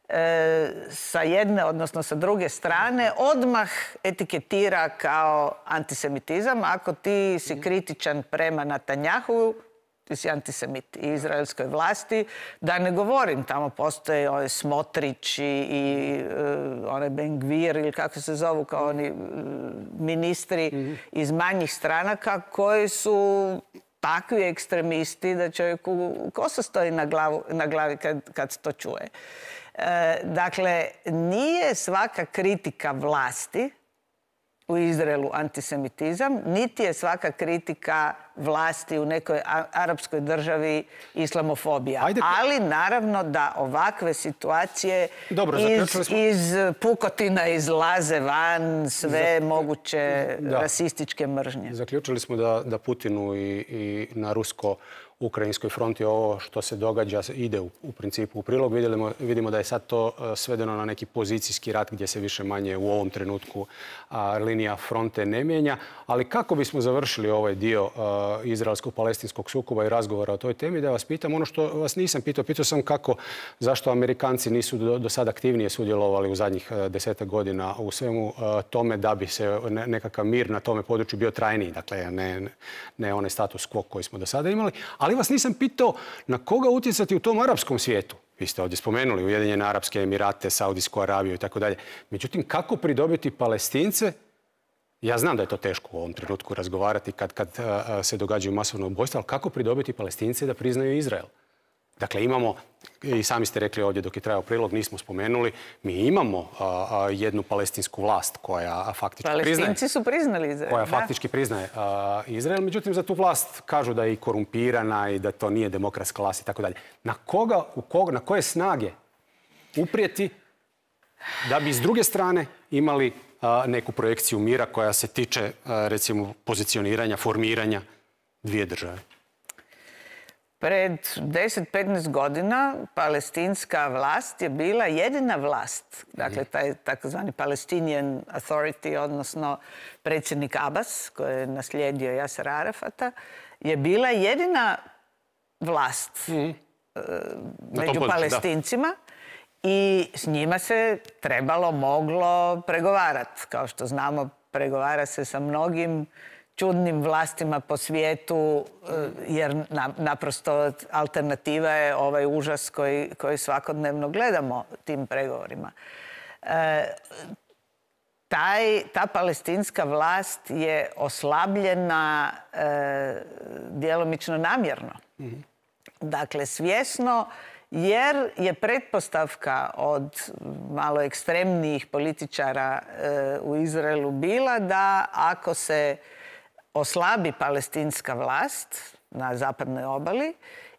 B: e, sa jedne, odnosno sa druge strane, odmah etiketira kao antisemitizam. Ako ti si kritičan prema Netanjahu, ti si antisemit i izraelskoj vlasti. Da ne govorim, tamo postoje ovaj Smotrić i, i uh, onaj Ben-Gvir ili kako se zovu, kao oni uh, ministri mm-hmm. iz manjih stranaka koji su takvi ekstremisti da čovjeku kosa stoji na, glavu, na glavi kad, kad to čuje. E, dakle, nije svaka kritika vlasti u Izraelu antisemitizam, niti je svaka kritika vlasti u nekoj arapskoj državi islamofobija. Ajde. Ali naravno da ovakve situacije Dobro, iz, smo... iz pukotina izlaze van sve Zak... moguće da. rasističke mržnje.
A: Zaključili smo da, da Putinu i, i na rusko ukrajinskoj fronti ovo što se događa ide u, u principu u prilog. Vidimo, vidimo da je sad to svedeno na neki pozicijski rat gdje se više manje u ovom trenutku a, linija fronte ne mijenja. Ali kako bismo završili ovaj dio izraelsko-palestinskog sukoba i razgovora o toj temi, da vas pitam ono što vas nisam pitao. Pitao sam kako, zašto Amerikanci nisu do, do sad aktivnije sudjelovali u zadnjih desetak godina u svemu tome da bi se nekakav mir na tome području bio trajniji. Dakle, ne, ne onaj status quo koji smo do sada imali. Ali vas nisam pitao na koga utjecati u tom arapskom svijetu. Vi ste ovdje spomenuli Ujedinjene Arapske Emirate, Saudijsku Arabiju i tako dalje. Međutim, kako pridobiti Palestince? Ja znam da je to teško u ovom trenutku razgovarati kad, kad se događaju masovno ubojstva, ali kako pridobiti Palestince da priznaju Izrael? Dakle, imamo, i sami ste rekli ovdje dok je trajao prilog, nismo spomenuli, mi imamo a, a, jednu palestinsku vlast koja faktički
B: Palestinci
A: priznaje...
B: Palestinci su priznali Izrael.
A: Koja
B: da.
A: faktički priznaje a, Izrael. Međutim, za tu vlast kažu da je i korumpirana i da to nije demokratska vlast i tako dalje. Na koga, u koga, na koje snage uprijeti da bi s druge strane imali a, neku projekciju mira koja se tiče, a, recimo, pozicioniranja, formiranja dvije države?
B: Pred deset do petnaest godina palestinska vlast je bila jedina vlast, dakle taj takozvani Palestinian Authority, odnosno predsjednik Abbas, koji je naslijedio Jasera Arafata, je bila jedina vlast mm-hmm. među Palestincima i s njima se trebalo, moglo pregovarati. Kao što znamo, pregovara se sa mnogim čudnim vlastima po svijetu, jer naprosto alternativa je ovaj užas koji, koji svakodnevno gledamo tim pregovorima. E, taj, ta palestinska vlast je oslabljena e, djelomično namjerno. Mm-hmm. Dakle, svjesno, jer je pretpostavka od malo ekstremnijih političara e, u Izraelu bila da ako se oslabi palestinska vlast na zapadnoj obali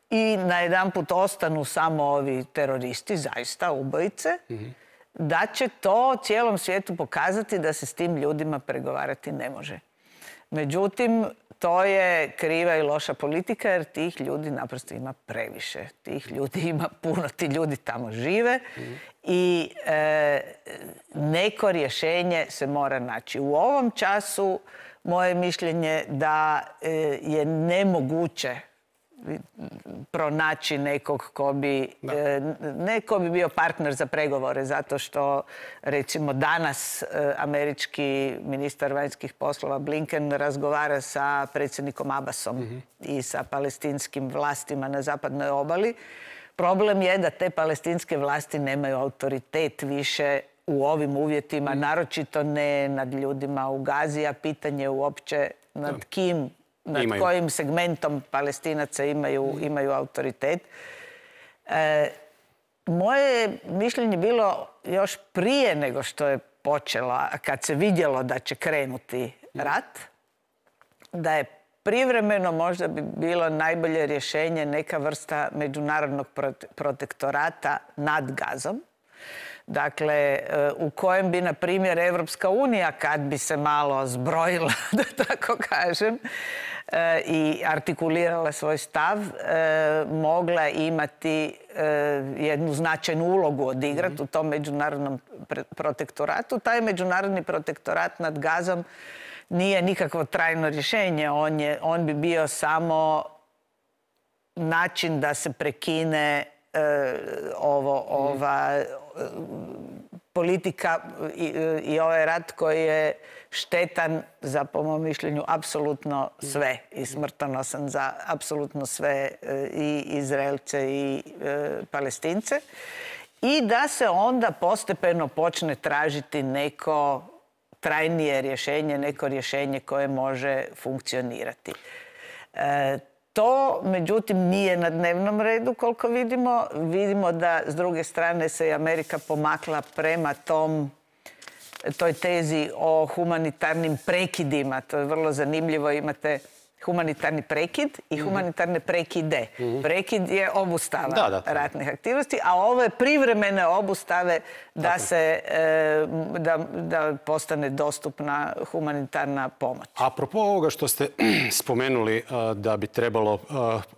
B: i najedanput ostanu samo ovi teroristi, zaista ubojice, mm-hmm. da će to cijelom svijetu pokazati da se s tim ljudima pregovarati ne može. Međutim, to je kriva i loša politika jer tih ljudi naprosto ima previše. Tih ljudi ima puno, ti ljudi tamo žive mm-hmm. i e, neko rješenje se mora naći. U ovom času moje mišljenje da je nemoguće pronaći nekog ko bi, ne ko bi bio partner za pregovore, zato što recimo danas američki ministar vanjskih poslova Blinken razgovara sa predsjednikom Abbasom mm-hmm. i sa palestinskim vlastima na zapadnoj obali. Problem je da te palestinske vlasti nemaju autoritet više u ovim uvjetima, mm. naročito ne nad ljudima u Gazi, a pitanje uopće nad kim, nad imaju. Kojim segmentom Palestinaca imaju, mm. imaju autoritet. E, moje mišljenje bilo još prije nego što je počela, kad se vidjelo da će krenuti mm. rat, da je privremeno možda bi bilo najbolje rješenje neka vrsta međunarodnog protektorata nad Gazom. Dakle, u kojem bi, na primjer, Evropska unija, kad bi se malo zbrojila, da tako kažem, i artikulirala svoj stav, mogla imati jednu značajnu ulogu odigrati mm-hmm. u tom međunarodnom protektoratu. Taj međunarodni protektorat nad Gazom nije nikakvo trajno rješenje. On, je, on bi bio samo način da se prekine e, ovo, ova politika i, i ovaj rat koji je štetan za, po mom mišljenju, apsolutno sve i smrtonosan za apsolutno sve i Izraelce i e, Palestince. I da se onda postepeno počne tražiti neko trajnije rješenje, neko rješenje koje može funkcionirati. E, to, međutim, nije na dnevnom redu koliko vidimo. Vidimo da, s druge strane, se i Amerika pomakla prema tom, toj tezi o humanitarnim prekidima. To je vrlo zanimljivo. Imate humanitarni prekid i humanitarne prekide. Prekid je obustava
A: da, da,
B: ratnih aktivnosti, a ovo je privremene obustave da, se, da, da postane dostupna humanitarna pomoć.
A: Apropo ovoga što ste spomenuli da bi trebalo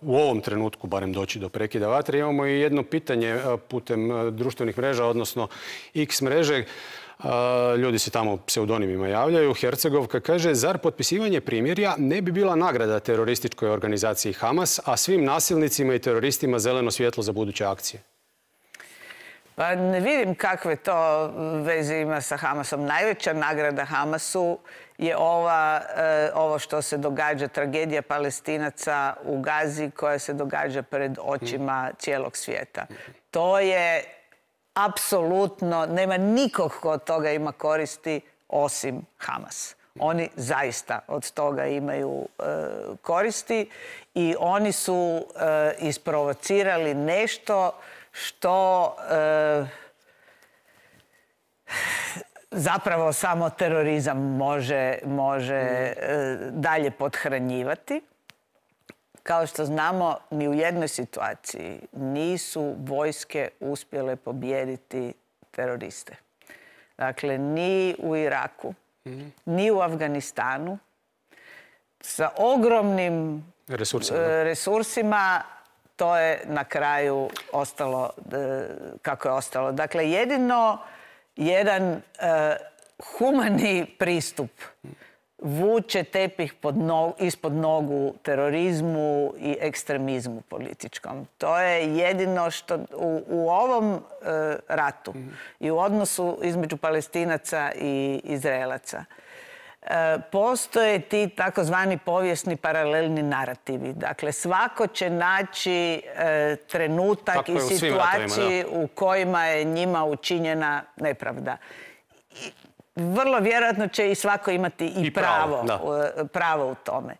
A: u ovom trenutku barem doći do prekida vatre, imamo i jedno pitanje putem društvenih mreža, odnosno X mreže. Ljudi se tamo pseudonimima javljaju. Hercegovka kaže, zar potpisivanje primirja ne bi bila nagrada terorističkoj organizaciji Hamas, a svim nasilnicima i teroristima zeleno svjetlo za buduće akcije?
B: Pa ne vidim kakve to veze ima sa Hamasom. Najveća nagrada Hamasu je ova, ovo što se događa, tragedija Palestinaca u Gazi koja se događa pred očima cijelog svijeta. To je apsolutno, nema nikog ko od toga ima koristi osim Hamas. Oni zaista od toga imaju e, koristi i oni su e, isprovocirali nešto što e, zapravo samo terorizam može, može e, dalje pothranjivati. Kao što znamo, ni u jednoj situaciji nisu vojske uspjele pobijediti teroriste. Dakle, ni u Iraku, mm-hmm. ni u Afganistanu. Sa ogromnim
A: resursima,
B: resursima to je na kraju ostalo kako je ostalo. Dakle, jedino jedan uh, humani pristup vuče tepih pod nogu, ispod nogu terorizmu i ekstremizmu političkom. To je jedino što u, u ovom e, ratu mm. i u odnosu između Palestinaca i Izraelaca e, postoje ti takozvani povijesni paralelni narativi. Dakle, svako će naći e, trenutak tako i situaciji u kojima je njima učinjena nepravda. I, vrlo vjerojatno će i svako imati i, I pravo, pravo, pravo u tome.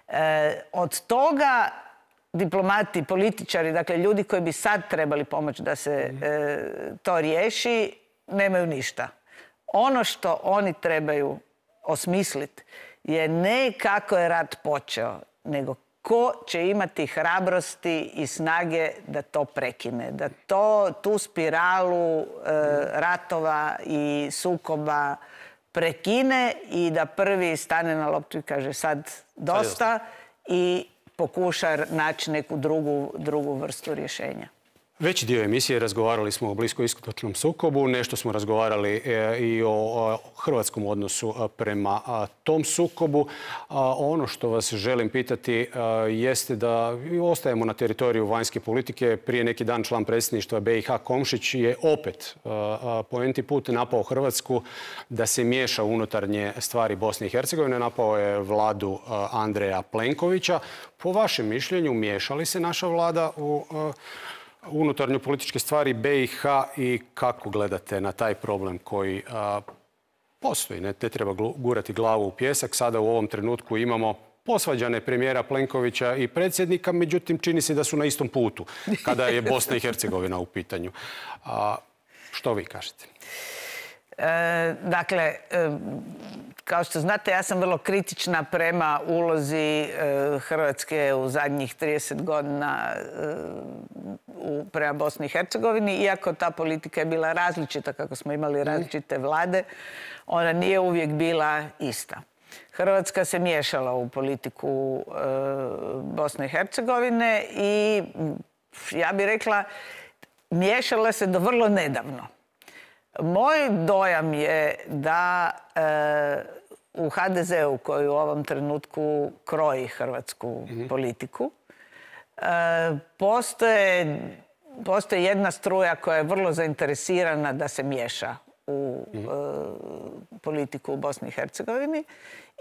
B: E, od toga diplomati, političari, dakle ljudi koji bi sad trebali pomoći da se mm. e, to riješi, nemaju ništa. Ono što oni trebaju osmisliti je ne kako je rat počeo, nego ko će imati hrabrosti i snage da to prekine, da to, tu spiralu e, ratova i sukoba prekine i da prvi stane na loptu i kaže sad dosta i pokuša naći neku drugu, drugu vrstu rješenja.
A: Veći dio emisije razgovarali smo o bliskoistočnom sukobu, nešto smo razgovarali i o hrvatskom odnosu prema tom sukobu. Ono što vas želim pitati jeste da ostajemo na teritoriju vanjske politike. Prije neki dan član predsjedništva B i H Komšić je opet po enti put napao Hrvatsku da se miješa u unutarnje stvari Bosne i Hercegovine. Napao je vladu Andreja Plenkovića. Po vašem mišljenju, miješa li se naša vlada u unutarnje političke stvari B i H i kako gledate na taj problem koji a, postoji? Ne, ne treba gurati glavu u pijesak. Sada u ovom trenutku imamo posvađane premijera Plenkovića i predsjednika, međutim čini se da su na istom putu kada je Bosna i Hercegovina u pitanju. A, što vi kažete?
B: E, dakle, e, kao što znate, ja sam vrlo kritična prema ulozi e, Hrvatske u zadnjih trideset godina e, u, prema Bosni i Hercegovini. Iako ta politika je bila različita, kako smo imali različite vlade, ona nije uvijek bila ista. Hrvatska se miješala u politiku e, Bosne i Hercegovine i ja bih rekla miješala se do vrlo nedavno. Moj dojam je da e, u ha de zeu koji u ovom trenutku kroji hrvatsku mm-hmm. politiku, e, postoje, postoji jedna struja koja je vrlo zainteresirana da se miješa u mm-hmm. e, politiku u Bosni i Hercegovini.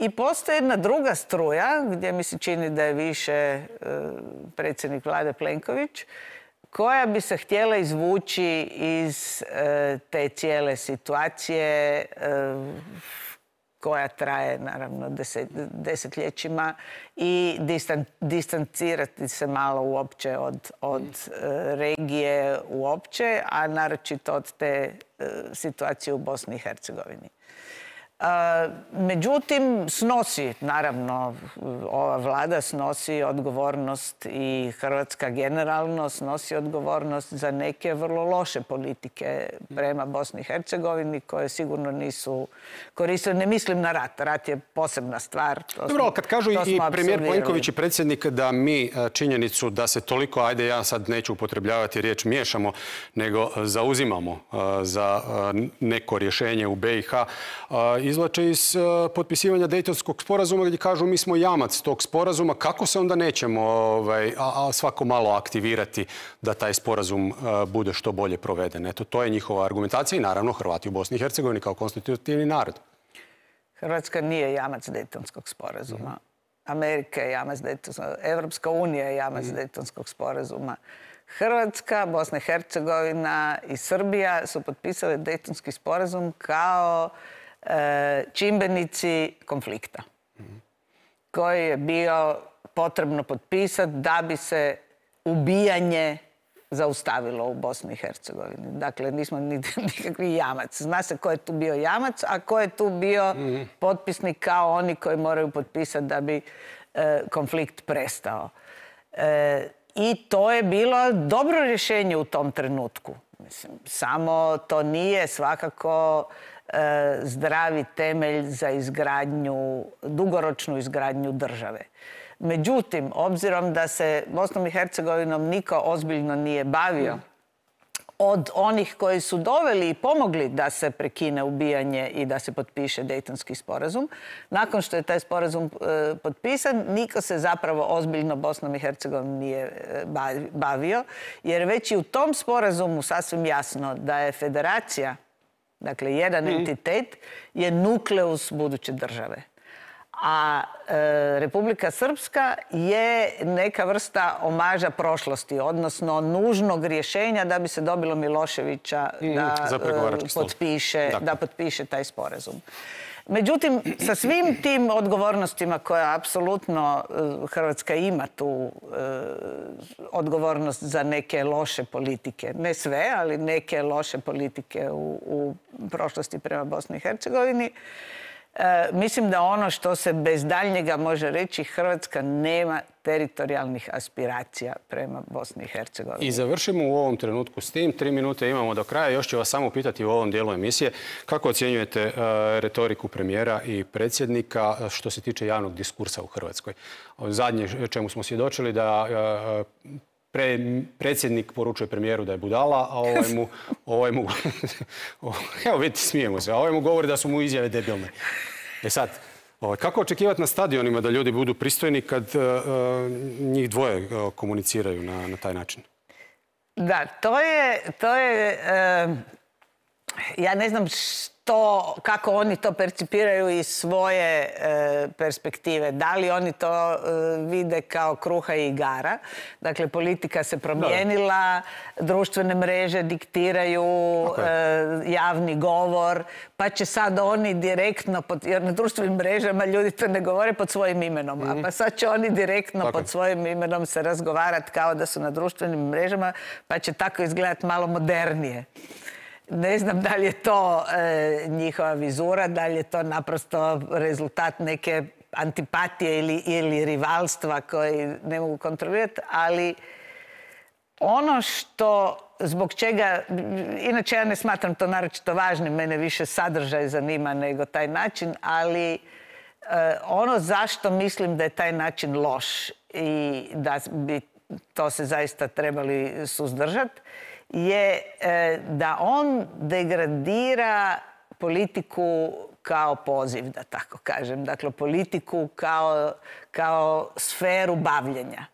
B: I postoji jedna druga struja gdje mi se čini da je više e, predsjednik vlade Plenković, koja bi se htjela izvući iz e, te cijele situacije e, koja traje, naravno, deset, desetljećima i distan, distancirati se malo uopće od, od e, regije uopće, a naročito od te e, situacije u Bosni i Hercegovini. Međutim, snosi, naravno, ova vlada snosi odgovornost i Hrvatska generalno snosi odgovornost za neke vrlo loše politike prema Bosni i Hercegovini koje sigurno nisu koristile. Ne mislim na rat. Rat je posebna stvar.
A: Dobro, kad kažu i premijer Plenković i predsjednik da mi činjenicu da se toliko, ajde ja sad neću upotrebljavati riječ miješamo, nego zauzimamo za neko rješenje u B i H, izvlače iz potpisivanja Dejtonskog sporazuma gdje kažu mi smo jamac tog sporazuma. Kako se onda nećemo ovaj, a, a svako malo aktivirati da taj sporazum a, bude što bolje proveden? Eto, to je njihova argumentacija i naravno Hrvati u Bosni i Hercegovini kao konstitutivni narod.
B: Hrvatska nije jamac Dejtonskog sporazuma. Mm. Amerika je jamac Dejtonskog, Evropska unija je jamac mm. Dejtonskog sporazuma. Hrvatska, Bosna i Hercegovina i Srbija su potpisale Dejtonski sporazum kao čimbenici konflikta koji je bio potrebno potpisati da bi se ubijanje zaustavilo u Bosni i Hercegovini. Dakle, nismo nikakvi jamac. Zna se ko je tu bio jamac, a ko je tu bio potpisnik kao oni koji moraju potpisati da bi konflikt prestao. I to je bilo dobro rješenje u tom trenutku. Mislim, samo to nije svakako zdravi temelj za izgradnju, dugoročnu izgradnju države. Međutim, obzirom da se Bosnom i Hercegovinom niko ozbiljno nije bavio, od onih koji su doveli i pomogli da se prekine ubijanje i da se potpiše Dejtonski sporazum, nakon što je taj sporazum e, potpisan, niko se zapravo ozbiljno Bosnom i Hercegovinom nije bavio, jer već i u tom sporazumu sasvim jasno da je federacija, dakle, jedan mm. entitet je nukleus buduće države. A e, Republika Srpska je neka vrsta omaža prošlosti, odnosno nužnog rješenja da bi se dobilo Miloševića mm. da, e, potpiše, da potpiše taj sporazum. Međutim, sa svim tim odgovornostima koje apsolutno Hrvatska ima tu e, odgovornost za neke loše politike, ne sve, ali neke loše politike u, u prošlosti prema Bosni i Hercegovini, e, mislim da ono što se bez daljnjega može reći, Hrvatska nema teritorijalnih aspiracija prema Bosni i Hercegovini.
A: I završimo u ovom trenutku s tim. Tri minute imamo do kraja. Još ću vas samo pitati u ovom dijelu emisije. Kako ocjenjujete uh, retoriku premijera i predsjednika što se tiče javnog diskursa u Hrvatskoj? Zadnje čemu smo svjedočili da uh, pre, predsjednik poručuje premijeru da je budala, a ovaj mu... ovaj mu evo vidite, smijemo se. A ovaj mu govori da su mu izjave debilne. E sad... Kako očekivati na stadionima da ljudi budu pristojni kad uh, njih dvoje uh, komuniciraju na, na taj način?
B: Da, to je... To je uh, ja ne znam što, kako oni to percipiraju iz svoje uh, perspektive. Da li oni to uh, vide kao kruha i igara? Dakle, politika se promijenila, da. društvene mreže diktiraju okay. uh, javni govor, pa će sad oni direktno, pod, jer na društvenim mrežama ljudi to ne govore pod svojim imenom, mm-hmm. a pa sad će oni direktno tako. pod svojim imenom se razgovarati kao da su na društvenim mrežama, pa će tako izgledati malo modernije. Ne znam da li je to e, njihova vizura, da li je to naprosto rezultat neke antipatije ili, ili rivalstva koji ne mogu kontrolirati, ali ono što, zbog čega, inače ja ne smatram to naročito važnim, mene više sadržaj zanima nego taj način, ali e, ono zašto mislim da je taj način loš i da bi to se zaista trebali suzdržati, je e, da on degradira politiku kao poziv, da tako kažem. Dakle, politiku kao, kao sferu bavljenja.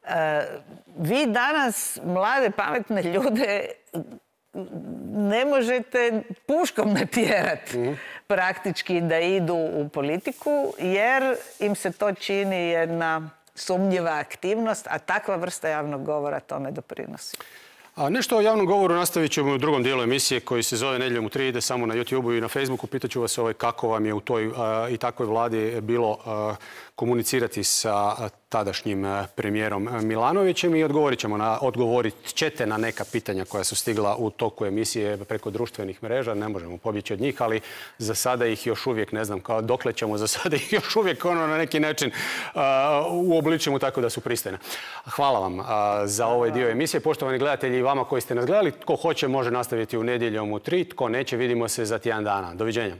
B: E, vi danas, mlade, pametne ljude, ne možete puškom natjerati mm-hmm. praktički da idu u politiku, jer im se to čini jedna sumnjiva aktivnost, a takva vrsta javnog govora tome doprinosi.
A: A nešto o javnom govoru nastavit ćemo u drugom dijelu emisije koji se zove Nedjeljom u tri, ide samo na YouTubeu i na Facebooku. Pitaću vas ovaj, kako vam je u toj a, i takvoj vladi bilo a, komunicirati sa a, tadašnjim premijerom Milanovićem i odgovorit ćemo na, odgovorit ćete na neka pitanja koja su stigla u toku emisije preko društvenih mreža. Ne možemo pobjeći od njih, ali za sada ih još uvijek, ne znam kao dokle ćemo, za sada ih još uvijek ono na neki način uh, uobličimo tako da su pristojne. Hvala vam uh, za ovaj dio emisije. Poštovani gledatelji i vama koji ste nas gledali, tko hoće može nastaviti u nedjeljom u tri, tko neće vidimo se za tjedan dana. Doviđenja.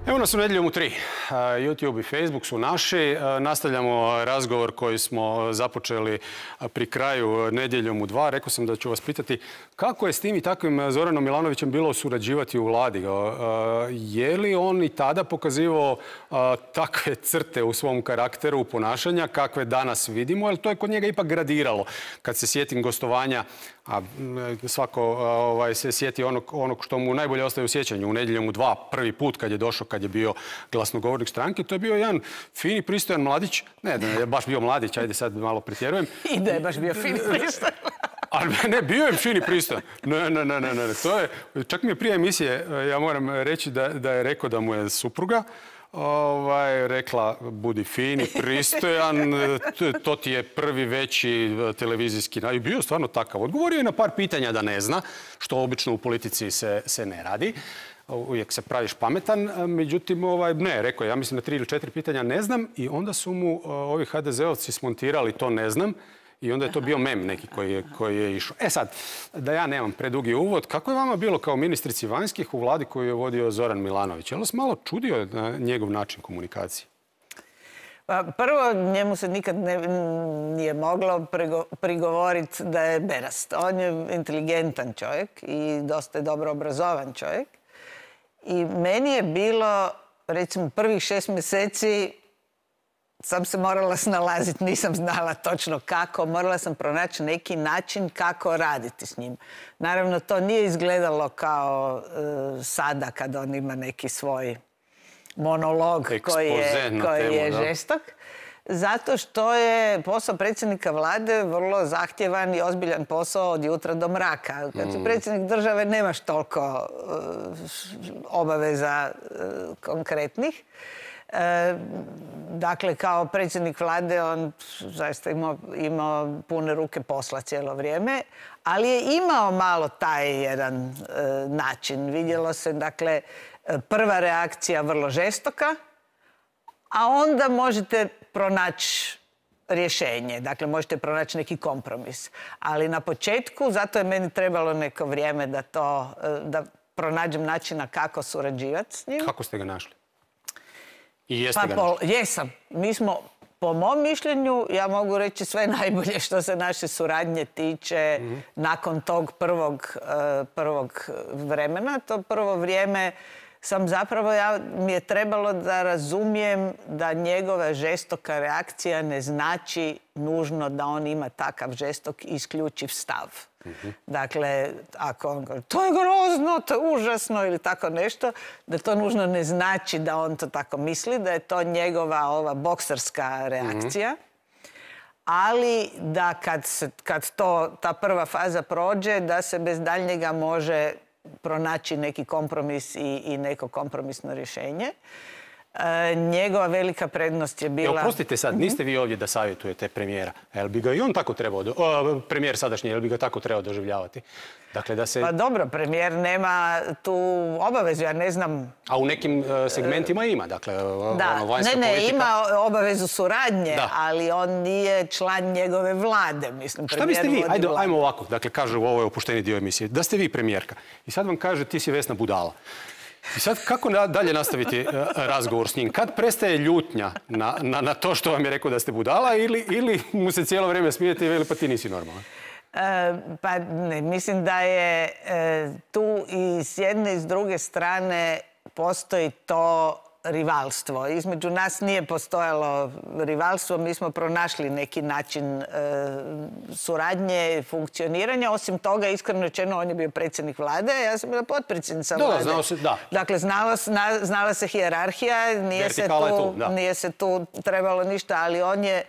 A: Evo nas u nedjeljom u tri. YouTube i Facebook su naši. Nastavljamo razgovor koji smo započeli pri kraju nedjeljom u dva. Rekao sam da ću vas pitati kako je s tim i takvim Zoranom Milanovićem bilo surađivati u vladi. Je li on i tada pokazivao takve crte u svom karakteru, ponašanja kakve danas vidimo? Jer to je kod njega ipak gradiralo. Kad se sjetim gostovanja, a svako ovaj, se sjeti onog, onog što mu najbolje ostaje u sjećanju. U nedjeljom u dva, prvi put kad je došao, kad je bio glasnogovornik stranke, to je bio jedan fini, pristojan mladić. Ne, da je baš bio mladić, ajde sad malo pretjerujem.
B: I da je baš bio fini, pristojan.
A: Ali ne, bio je fini, pristojan. Ne, ne, ne, ne, ne. To je, čak mi je prije emisije, ja moram reći da, da je rekao da mu je supruga Ovaj, rekla, budi fini, pristojan, to ti je prvi veći televizijski... I bio stvarno takav. Odgovorio je na par pitanja da ne zna, što obično u politici se, se ne radi. Uvijek se praviš pametan. Međutim, ovaj, ne, rekao je, ja mislim na tri ili četiri pitanja ne znam i onda su mu ovi ha de zeovci smontirali to ne znam. I onda je to bio mem neki koji je, koji je išao. E sad, da ja nemam predugi uvod, kako je vama bilo kao ministrici vanjskih u vladi koju je vodio Zoran Milanović? Je li vas malo čudio na njegov način komunikacije?
B: Pa prvo, njemu se nikad ne, nije moglo prigovoriti da je berast. On je inteligentan čovjek i dosta je dobro obrazovan čovjek. I meni je bilo, recimo, prvih šest mjeseci sam se morala snalaziti, nisam znala točno kako. Morala sam pronaći neki način kako raditi s njim. Naravno, to nije izgledalo kao e, sada kad on ima neki svoj monolog koji je, koji temu, je žestok. Zato što je posao predsjednika vlade vrlo zahtjevan i ozbiljan posao od jutra do mraka. Kad si predsjednik države nemaš toliko uh, obaveza uh, konkretnih. E, dakle, kao predsjednik vlade on zaista imao, imao pune ruke posla cijelo vrijeme, ali je imao malo taj jedan e, način. Vidjelo se, dakle, prva reakcija vrlo žestoka, a onda možete pronaći rješenje. Dakle, možete pronaći neki kompromis. Ali na početku, zato je meni trebalo neko vrijeme da to, da pronađem načina kako surađivati s njim.
A: Kako ste ga našli? I jeste
B: pa
A: ga
B: po, jesam. Mi smo, po mom mišljenju, ja mogu reći sve najbolje što se naše suradnje tiče mm-hmm. nakon tog prvog, uh, prvog vremena. To prvo vrijeme sam zapravo, ja, mi je trebalo da razumijem da njegova žestoka reakcija ne znači nužno da on ima takav žestok i isključiv stav. Mm-hmm. Dakle, ako on govori, to je grozno, to je užasno ili tako nešto, da to nužno ne znači da on to tako misli, da je to njegova ova bokserska reakcija. Mm-hmm. Ali da kad, se, kad to, ta prva faza prođe, da se bez daljnjega može pronaći neki kompromis i, i neko kompromisno rješenje. E, njegova velika prednost je bila...
A: E, oprostite sad, niste vi ovdje da savjetujete premijera. Jel bi ga i on tako trebao, do... o, premijer sadašnji, jel bi ga tako trebao doživljavati? Dakle, da se...
B: Pa dobro, premijer nema tu obavezu, ja ne znam...
A: A u nekim uh, segmentima ima, dakle,
B: da.
A: ono, vanjska
B: ne, ne,
A: politika...
B: ima obavezu suradnje,
A: da.
B: Ali on nije član njegove vlade, mislim.
A: Šta biste vi, ajde, ajmo ovako, dakle, kažu, ovo je opušteni dio emisije, da ste vi premijerka i sad vam kaže ti si Vesna budala. I sad kako dalje nastaviti razgovor s njim? Kad prestaje ljutnja na, na, na to što vam je rekao da ste budala ili, ili mu se cijelo vrijeme smijete i veli pa ti nisi normalan?
B: E, pa ne, mislim da je e, tu i s jedne i s druge strane postoji to rivalstvo. Između nas nije postojalo rivalstvo, mi smo pronašli neki način e, suradnje, funkcioniranja. Osim toga, iskreno rečeno, on je bio predsjednik vlade, ja sam bila potpredsjednica vlade.
A: Da, znao se, da.
B: Dakle, znala, zna, znala se hijerarhija, nije se, tu,
A: tu,
B: nije se tu trebalo ništa, ali on je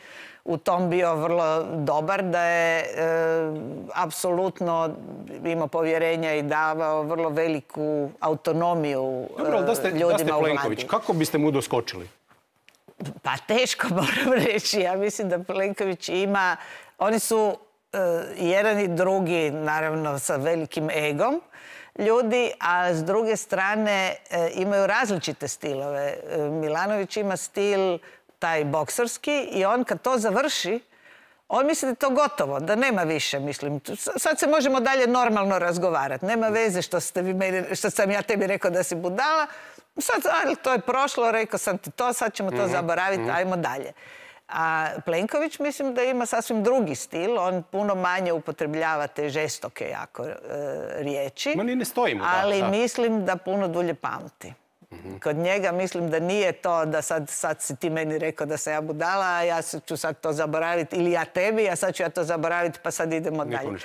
B: u tom bio vrlo dobar, da je e, apsolutno imao povjerenja i davao vrlo veliku autonomiju
A: Dobro, da ste,
B: ljudima
A: da ste
B: u
A: Plenković,
B: vladi.
A: kako biste mu doskočili?
B: Pa teško moram reći. Ja mislim da Plenković ima... Oni su e, jedan i drugi, naravno, sa velikim egom ljudi, a s druge strane e, imaju različite stilove. E, Milanović ima stil taj bokserski i on kad to završi, on misli da je to gotovo, da nema više, mislim. Sad se možemo dalje normalno razgovarati. Nema veze što, ste vi meni, što sam ja tebi rekao da si budala. Sad, ali to je prošlo, rekao sam ti to, sad ćemo to mm-hmm. zaboraviti, mm-hmm. ajmo dalje. A Plenković mislim da ima sasvim drugi stil, on puno manje upotrebljava te žestoke jako e, riječi.
A: Ma ni ne stojimo.
B: Ali
A: da, da.
B: mislim da puno dulje pamti. Mm-hmm. Kod njega mislim da nije to da sad, sad si ti meni rekao da sam ja budala, a ja ću sad to zaboraviti, ili ja tebi, a sad ću ja to zaboraviti, pa sad idemo dalje.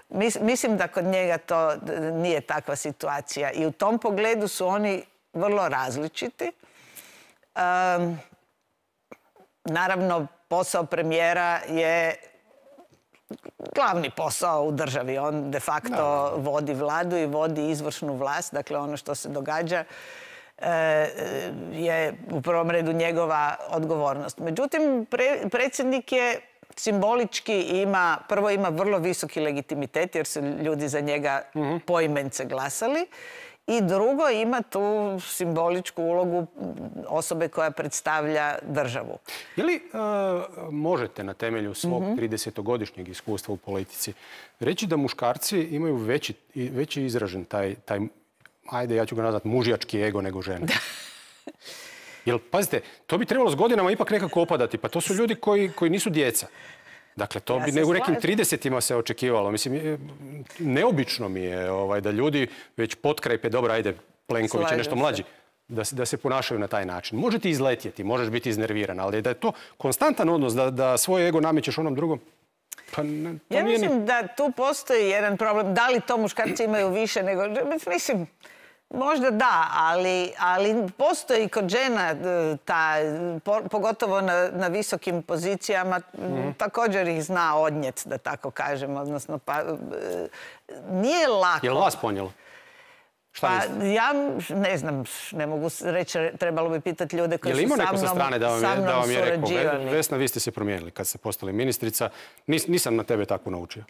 B: Mis, mislim da kod njega to nije takva situacija i u tom pogledu su oni vrlo različiti. Um, naravno, posao premijera je glavni posao u državi. On de facto no. vodi vladu i vodi izvršnu vlast. Dakle, ono što se događa e, je u prvom redu njegova odgovornost. Međutim, pre, predsjednik je simbolički ima, prvo ima vrlo visoki legitimitet jer su ljudi za njega mm-hmm. poimence glasali. I drugo, ima tu simboličku ulogu osobe koja predstavlja državu.
A: Je li uh, možete na temelju svog mm-hmm. tridesetogodišnjeg iskustva u politici reći da muškarci imaju veći, veći izražen taj, taj, ajde ja ću ga nazvati, mužjački ego nego žene? Jer, pazite, to bi trebalo s godinama ipak nekako opadati. Pa to su ljudi koji, koji nisu djeca. Dakle, to ja bi ne u nekim tridesetima se očekivalo. Mislim, neobično mi je ovaj, da ljudi već potkraj, dobro, ajde, Plenković je nešto mlađi, da, da se ponašaju na taj način. Može ti izletjeti, možeš biti iznerviran, ali da je to konstantan odnos, da, da svoj ego namećeš onom drugom, pa ne, to
B: ja
A: nije
B: mislim
A: ni...
B: da tu postoji jedan problem. Da li to muškarci imaju više nego... Mislim, možda da, ali, ali postoji kod žena, ta, po, pogotovo na, na visokim pozicijama, mm-hmm. također ih zna odnijeti, da tako kažem. Odnosno, pa, nije lako.
A: Je li vas ponijelo? Šta
B: pa, ja ne znam, ne mogu reći, trebalo bi pitati ljude koji su sa mnom surađivali. Je li ima neko sa strane da vam je, da vam je rekao,
A: Vesna, vi ste se promijenili kad ste postali ministrica, Nis, nisam na tebe tako naučio.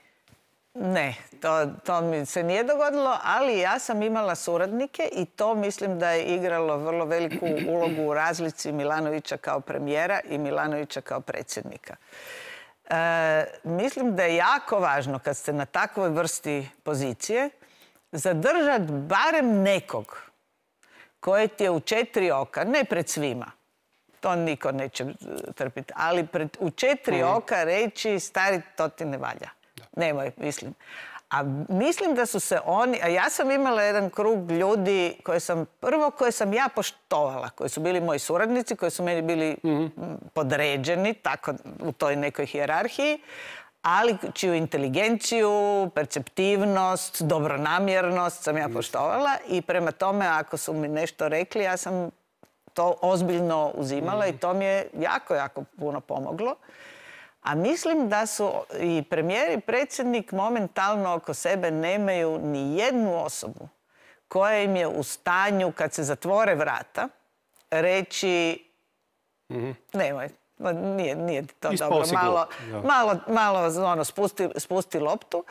B: Ne, to, to mi se nije dogodilo, ali ja sam imala suradnike i to mislim da je igralo vrlo veliku ulogu u razlici Milanovića kao premijera i Milanovića kao predsjednika. E, mislim da je jako važno kad ste na takvoj vrsti pozicije zadržati barem nekog koji ti je u četiri oka, ne pred svima, to niko neće trpiti, ali pred, u četiri oka reći stari, to ti ne valja. Nemoj, mislim. A mislim da su se oni... A ja sam imala jedan krug ljudi koje sam... Prvo koje sam ja poštovala, koji su bili moji suradnici, koji su meni bili mm-hmm. podređeni, tako u toj nekoj hijerarhiji, ali čiju inteligenciju, perceptivnost, dobronamjernost sam ja poštovala i prema tome ako su mi nešto rekli, ja sam to ozbiljno uzimala mm-hmm. i to mi je jako, jako puno pomoglo. A mislim da su i premijer i predsjednik momentalno oko sebe nemaju ni jednu osobu koje im je u stanju, kad se zatvore vrata, reći mm-hmm. nemoj, nije, nije to
A: Ispao
B: dobro, malo, malo, malo ono, spusti, spusti loptu.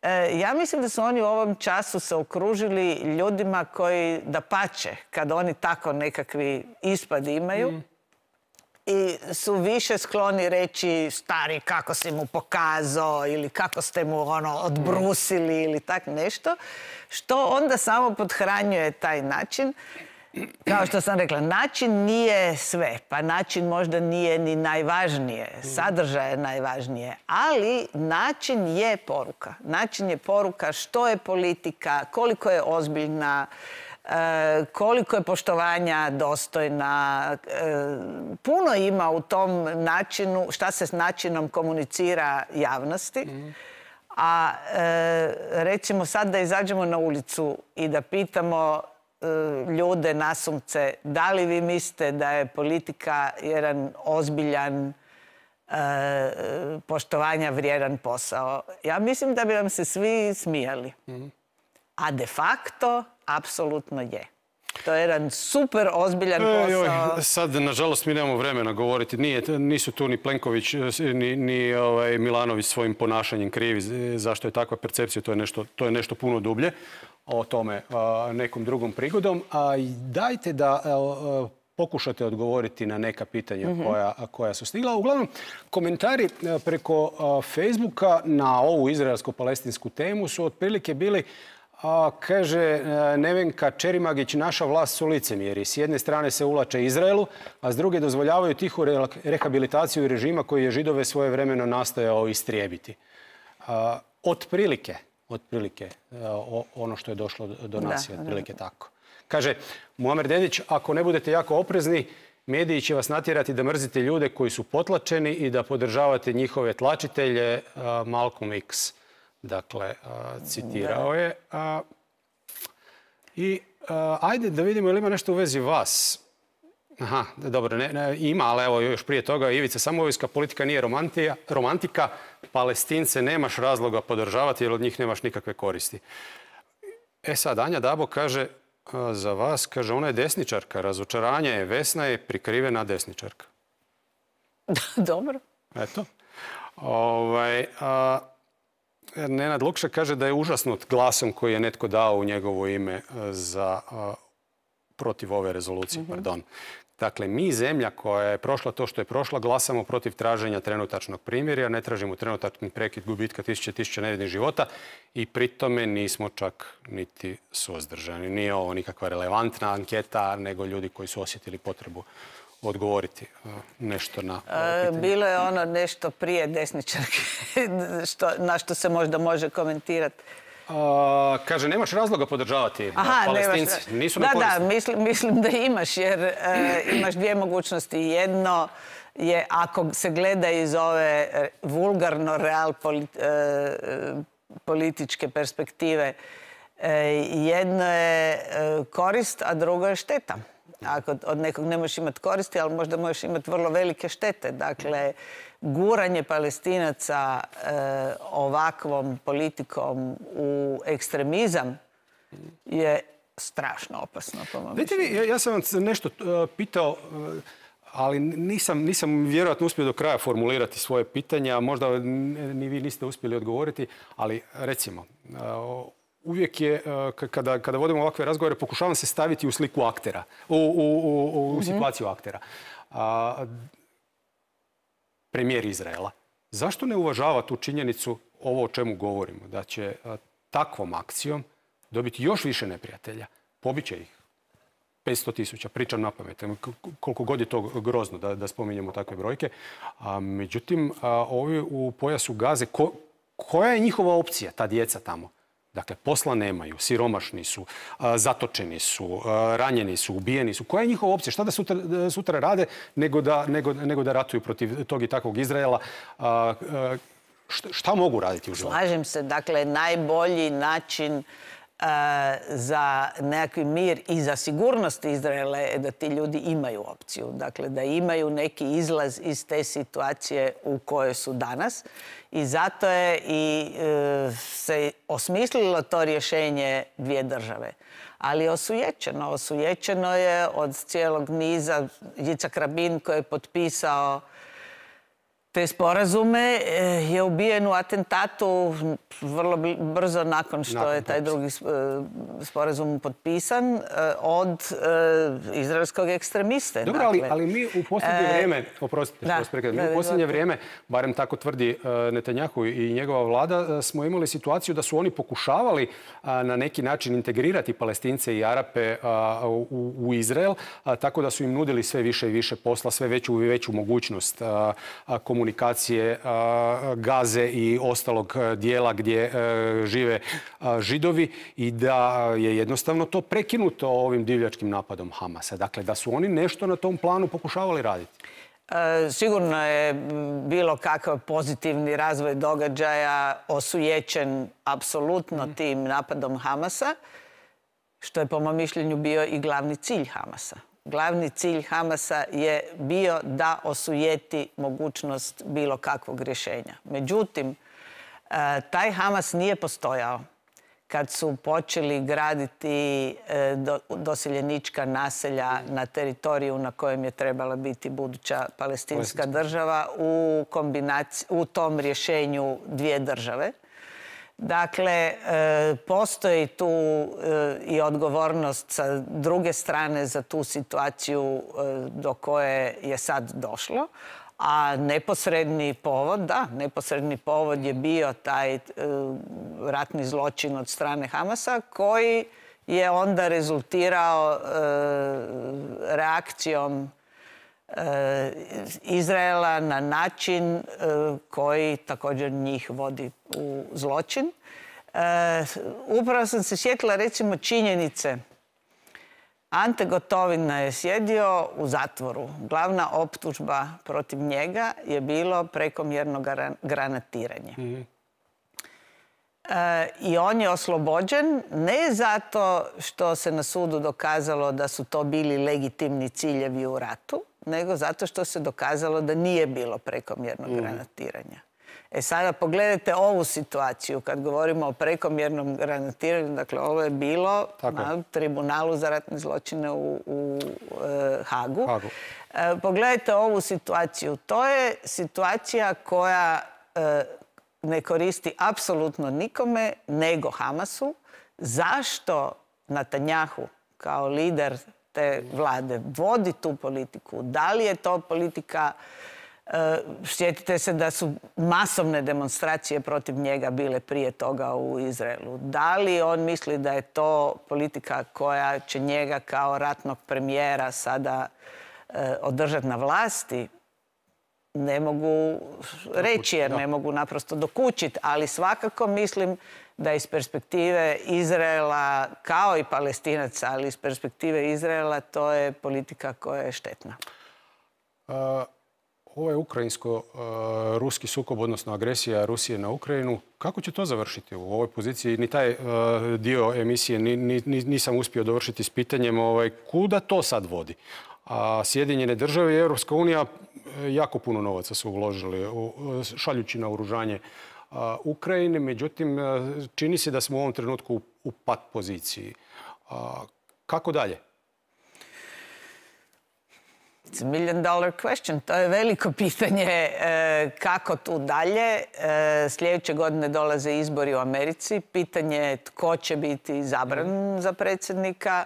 B: E, ja mislim da su oni u ovom času se okružili ljudima koji da pače, kad oni tako nekakvi ispadi imaju, mm. i su više skloni reći stari kako si mu pokazao ili kako ste mu ono odbrusili ili tak nešto, što onda samo podhranjuje taj način. Kao što sam rekla, način nije sve, pa način možda nije ni najvažnije, sadržaj je najvažnije, ali način je poruka. Način je poruka što je politika, koliko je ozbiljna, koliko je poštovanja dostojna. Puno ima u tom načinu, šta se s načinom komunicira javnosti. A recimo sad da izađemo na ulicu i da pitamo ljude nasumce, da li vi mislite da je politika jedan ozbiljan, poštovanja vrijedan posao? Ja mislim da bi vam se svi smijali. A de facto, apsolutno je. To je jedan super ozbiljan posao.
A: E, sad, nažalost, mi nemamo vremena govoriti. Nije, nisu tu ni Plenković, ni, ni ovaj, Milanović svojim ponašanjem krivi. Zašto je takva percepcija? To je nešto, to je nešto puno dublje. O tome a, nekom drugom prigodom. A dajte da a, pokušate odgovoriti na neka pitanja mm-hmm. koja, koja su stigla. Uglavnom, komentari preko a, Facebooka na ovu izraelsko-palestinsku temu su otprilike bili A, kaže Nevenka Čerimagić, naša vlast su licemjeri. S jedne strane se ulače Izraelu, a s druge dozvoljavaju tihu rehabilitaciju režima koji je Židove svojevremeno nastojao istrijebiti. A, otprilike, otprilike o, ono što je došlo do nas je otprilike tako. Kaže Muamer Dedić, ako ne budete jako oprezni, mediji će vas natjerati da mrzite ljude koji su potlačeni i da podržavate njihove tlačitelje. A, Malcolm X. Dakle, citirao je. I ajde da vidimo ili ima nešto u vezi vas. Aha, dobro, ne, ne, ima, ali evo još prije toga Ivica Samovinska, politika nije romantija, romantika, Palestince nemaš razloga podržavati jer od njih nemaš nikakve koristi. E sad, Anja Dabo kaže za vas, kaže ona je desničarka, razočaranje je, Vesna je prikrivena desničarka.
B: Dobro.
A: Eto. Ovaj... A, Nenad Lukša kaže da je užasnut glasom koji je netko dao u njegovo ime za, a, protiv ove rezolucije. Mm-hmm. Pardon. Dakle, mi, zemlja koja je prošla to što je prošla, glasamo protiv traženja trenutačnog primirja, ne tražimo trenutačni prekid gubitka tisuće tisuća nevinih života i pri tome nismo čak niti suzdržani. Nije ovo nikakva relevantna anketa, nego ljudi koji su osjetili potrebu odgovoriti nešto na
B: e, bilo je ono nešto prije desničarke što, na što se možda može komentirati.
A: A, kaže, nemaš razloga podržavati Aha, Palestinci. Nemaš... Nisu
B: da,
A: nekorisni.
B: Da, mislim, mislim da imaš, jer e, imaš dvije mogućnosti. Jedno je, ako se gleda iz ove vulgarno real polit, e, političke perspektive, e, jedno je korist, a drugo je šteta. Ako od nekog ne možeš imati koristi, ali možda možeš imati vrlo velike štete. Dakle, guranje Palestinaca e, ovakvom politikom u ekstremizam je strašno opasno.
A: Vidite vi, ja, ja sam vam nešto uh, pitao, uh, ali nisam, nisam vjerojatno uspio do kraja formulirati svoje pitanja. Možda ni vi niste uspjeli odgovoriti, ali recimo... Uh, Uvijek je, kada, kada vodimo ovakve razgovore, pokušavam se staviti u sliku aktera, u, u, u, u situaciju aktera. A, premijer Izraela. Zašto ne uvažava tu činjenicu, ovo o čemu govorimo, da će a, takvom akcijom dobiti još više neprijatelja? Pobiće ih petsto tisuća, pričam na pamet, koliko god je to grozno da, da spominjemo takve brojke. A, međutim, a, ovi u pojasu Gaze, ko, koja je njihova opcija, ta djeca tamo? Dakle, posla nemaju, siromašni su, zatočeni su, ranjeni su, ubijeni su. Koja je njihova opcija? Šta da sutra, sutra rade nego da, nego, nego da ratuju protiv tog i takvog Izraela? Šta, šta mogu raditi u životu?
B: Slažem se. Dakle, najbolji način za nekakvi mir i za sigurnost Izraela je da ti ljudi imaju opciju. Dakle, da imaju neki izlaz iz te situacije u kojoj su danas. I zato je i e, se osmislilo to rješenje dvije države. ali osujećeno. Osujećeno je od cijelog niza. Jicak Rabin koji je potpisao te sporazume je ubijen u atentatu vrlo brzo nakon što nakon je taj drugi sporazum potpisan od izraelskog ekstremiste.
A: Dobro, dakle, ali, ali mi u posljednje e, vrijeme, oprostite, da, što mi u posljednje vrijeme, barem tako tvrdi Netanjahu i njegova vlada, smo imali situaciju da su oni pokušavali na neki način integrirati Palestince i Arape u, u Izrael, tako da su im nudili sve više i više posla, sve veću i veću mogućnost komunikacije komunikacije Gaze i ostalog dijela gdje žive Židovi i da je jednostavno to prekinuto ovim divljačkim napadom Hamasa. Dakle, da su oni nešto na tom planu pokušavali raditi.
B: Sigurno je bilo kakav pozitivni razvoj događaja osujećen apsolutno tim napadom Hamasa, što je po mom mišljenju bio i glavni cilj Hamasa. Glavni cilj Hamasa je bio da osujeti mogućnost bilo kakvog rješenja. Međutim, taj Hamas nije postojao kad su počeli graditi doseljenička naselja na teritoriju na kojem je trebala biti buduća palestinska država u kombinaciji, u tom rješenju dvije države. Dakle, postoji tu i odgovornost sa druge strane za tu situaciju do koje je sad došlo, a neposredni povod, da, neposredni povod je bio taj ratni zločin od strane Hamasa koji je onda rezultirao reakcijom Izraela na način koji također njih vodi u zločin. Upravo sam se sjetila recimo činjenice. Ante Gotovina je sjedio u zatvoru. Glavna optužba protiv njega je bilo prekomjerno granatiranje. Mm-hmm. I on je oslobođen ne zato što se na sudu dokazalo da su to bili legitimni ciljevi u ratu, nego zato što se dokazalo da nije bilo prekomjernog mm. granatiranja. E sada pogledajte ovu situaciju kad govorimo o prekomjernom granatiranju. Dakle, ovo je bilo Tako. na tribunalu za ratne zločine u, u e, Hagu. Hagu. E, pogledajte ovu situaciju. To je situacija koja e, ne koristi apsolutno nikome nego Hamasu. Zašto Netanjahu kao lider te vlade vodi tu politiku? Da li je to politika, sjetite se da su masovne demonstracije protiv njega bile prije toga u Izraelu. Da li on misli da je to politika koja će njega kao ratnog premijera sada održati na vlasti? Ne mogu reći jer ne mogu naprosto dokučiti, ali svakako mislim da iz perspektive Izraela, kao i Palestinaca, ali iz perspektive Izraela, to je politika koja je štetna.
A: Uh, ovo je ukrajinsko-ruski uh, sukob, odnosno agresija Rusije na Ukrajinu. Kako će to završiti u ovoj poziciji? Ni taj uh, dio emisije ni, ni, nisam uspio dovršiti s pitanjem ovaj, kuda to sad vodi. A Sjedinjene države i Europska unija jako puno novaca su uložili šaljući na oružanje Ukrajine. Međutim, čini se da smo u ovom trenutku u pat poziciji. Kako dalje?
B: It's a million dollar question. To je veliko pitanje kako tu dalje. Sljedeće godine dolaze izbori u Americi. Pitanje je tko će biti izabran za predsjednika.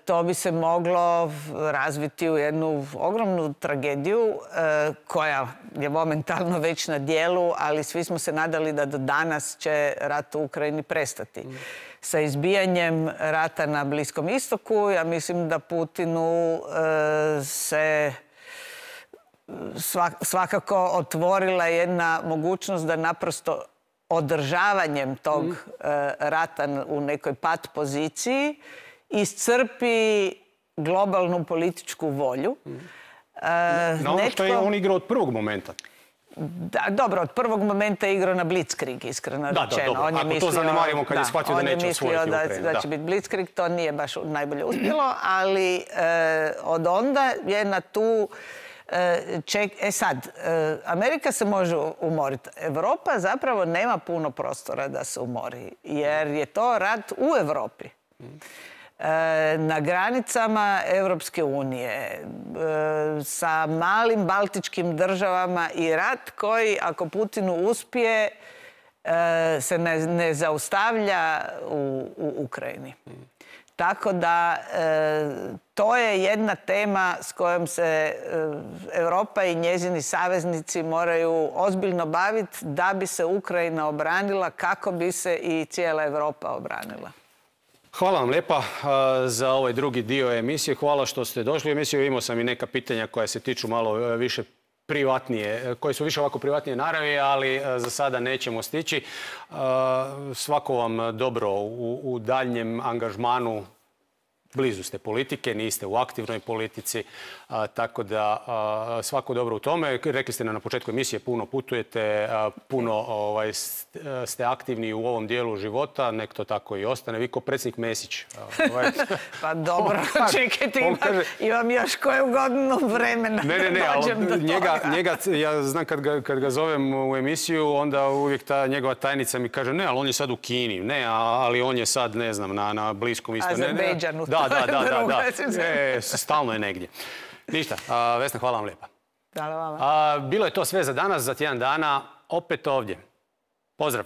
B: To bi se moglo razviti u jednu ogromnu tragediju koja je momentalno već na dijelu, ali svi smo se nadali da do danas će rat u Ukrajini prestati. Mm. Sa izbijanjem rata na Bliskom istoku, ja mislim da Putinu se svakako otvorila jedna mogućnost da naprosto održavanjem tog mm. rata u nekoj pat poziciji iscrpi globalnu političku volju.
A: Mm. E, na ono netko... što je on igrao od prvog momenta.
B: Da, dobro, od prvog momenta je igrao na Blitzkrieg, iskreno
A: da,
B: rečeno.
A: Da, dobro.
B: On je
A: Ako
B: mislio,
A: to zanemarimo kad da, je shvatio da neće osvojiti Ukrajinu.
B: On je mislio da, da će biti Blitzkrieg, to nije baš najbolje uspjelo, ali e, od onda je na tu... E, ček, e sad, e, Amerika se može umoriti. Evropa zapravo nema puno prostora da se umori, jer je to rat u Evropi. Na granicama Europske unije sa malim baltičkim državama i rat koji, ako Putinu uspije, se ne, ne zaustavlja u, u Ukrajini. Tako da to je jedna tema s kojom se Europa i njezini saveznici moraju ozbiljno baviti da bi se Ukrajina obranila, kako bi se i cijela Europa obranila.
A: Hvala vam lijepa za ovaj drugi dio emisije. Hvala što ste došli u emisiju. Imao sam i neka pitanja koja se tiču malo više privatnije, koje su više ovako privatnije naravi, ali za sada nećemo stići. Svako vam dobro u, u daljnjem angažmanu. Blizu ste politike, niste u aktivnoj politici, a, tako da a, svako dobro u tome. Rekli ste na početku emisije, puno putujete, a, puno ovaj, ste aktivni u ovom dijelu života, nek to tako i ostane. Vi ko predsjednik Mesić. Ovaj.
B: Pa dobro, čekajte, imam, kaže, imam još koju godinu vremena.
A: Ne, ne, ne, ali njega, njega, ja znam kad ga, kad ga zovem u emisiju, onda uvijek ta njegova tajnica mi kaže, ne, ali on je sad u Kini, ne, ali on je sad, ne znam, na, na Bliskom istoku.
B: Azerbejdžanu.
A: Da, da, da, da, da. E, stalno je negdje. Ništa, a, Vesna, hvala vam lijepa.
B: Hvala vama.
A: A, bilo je to sve za danas, za tjedan dana, opet ovdje. Pozdrav.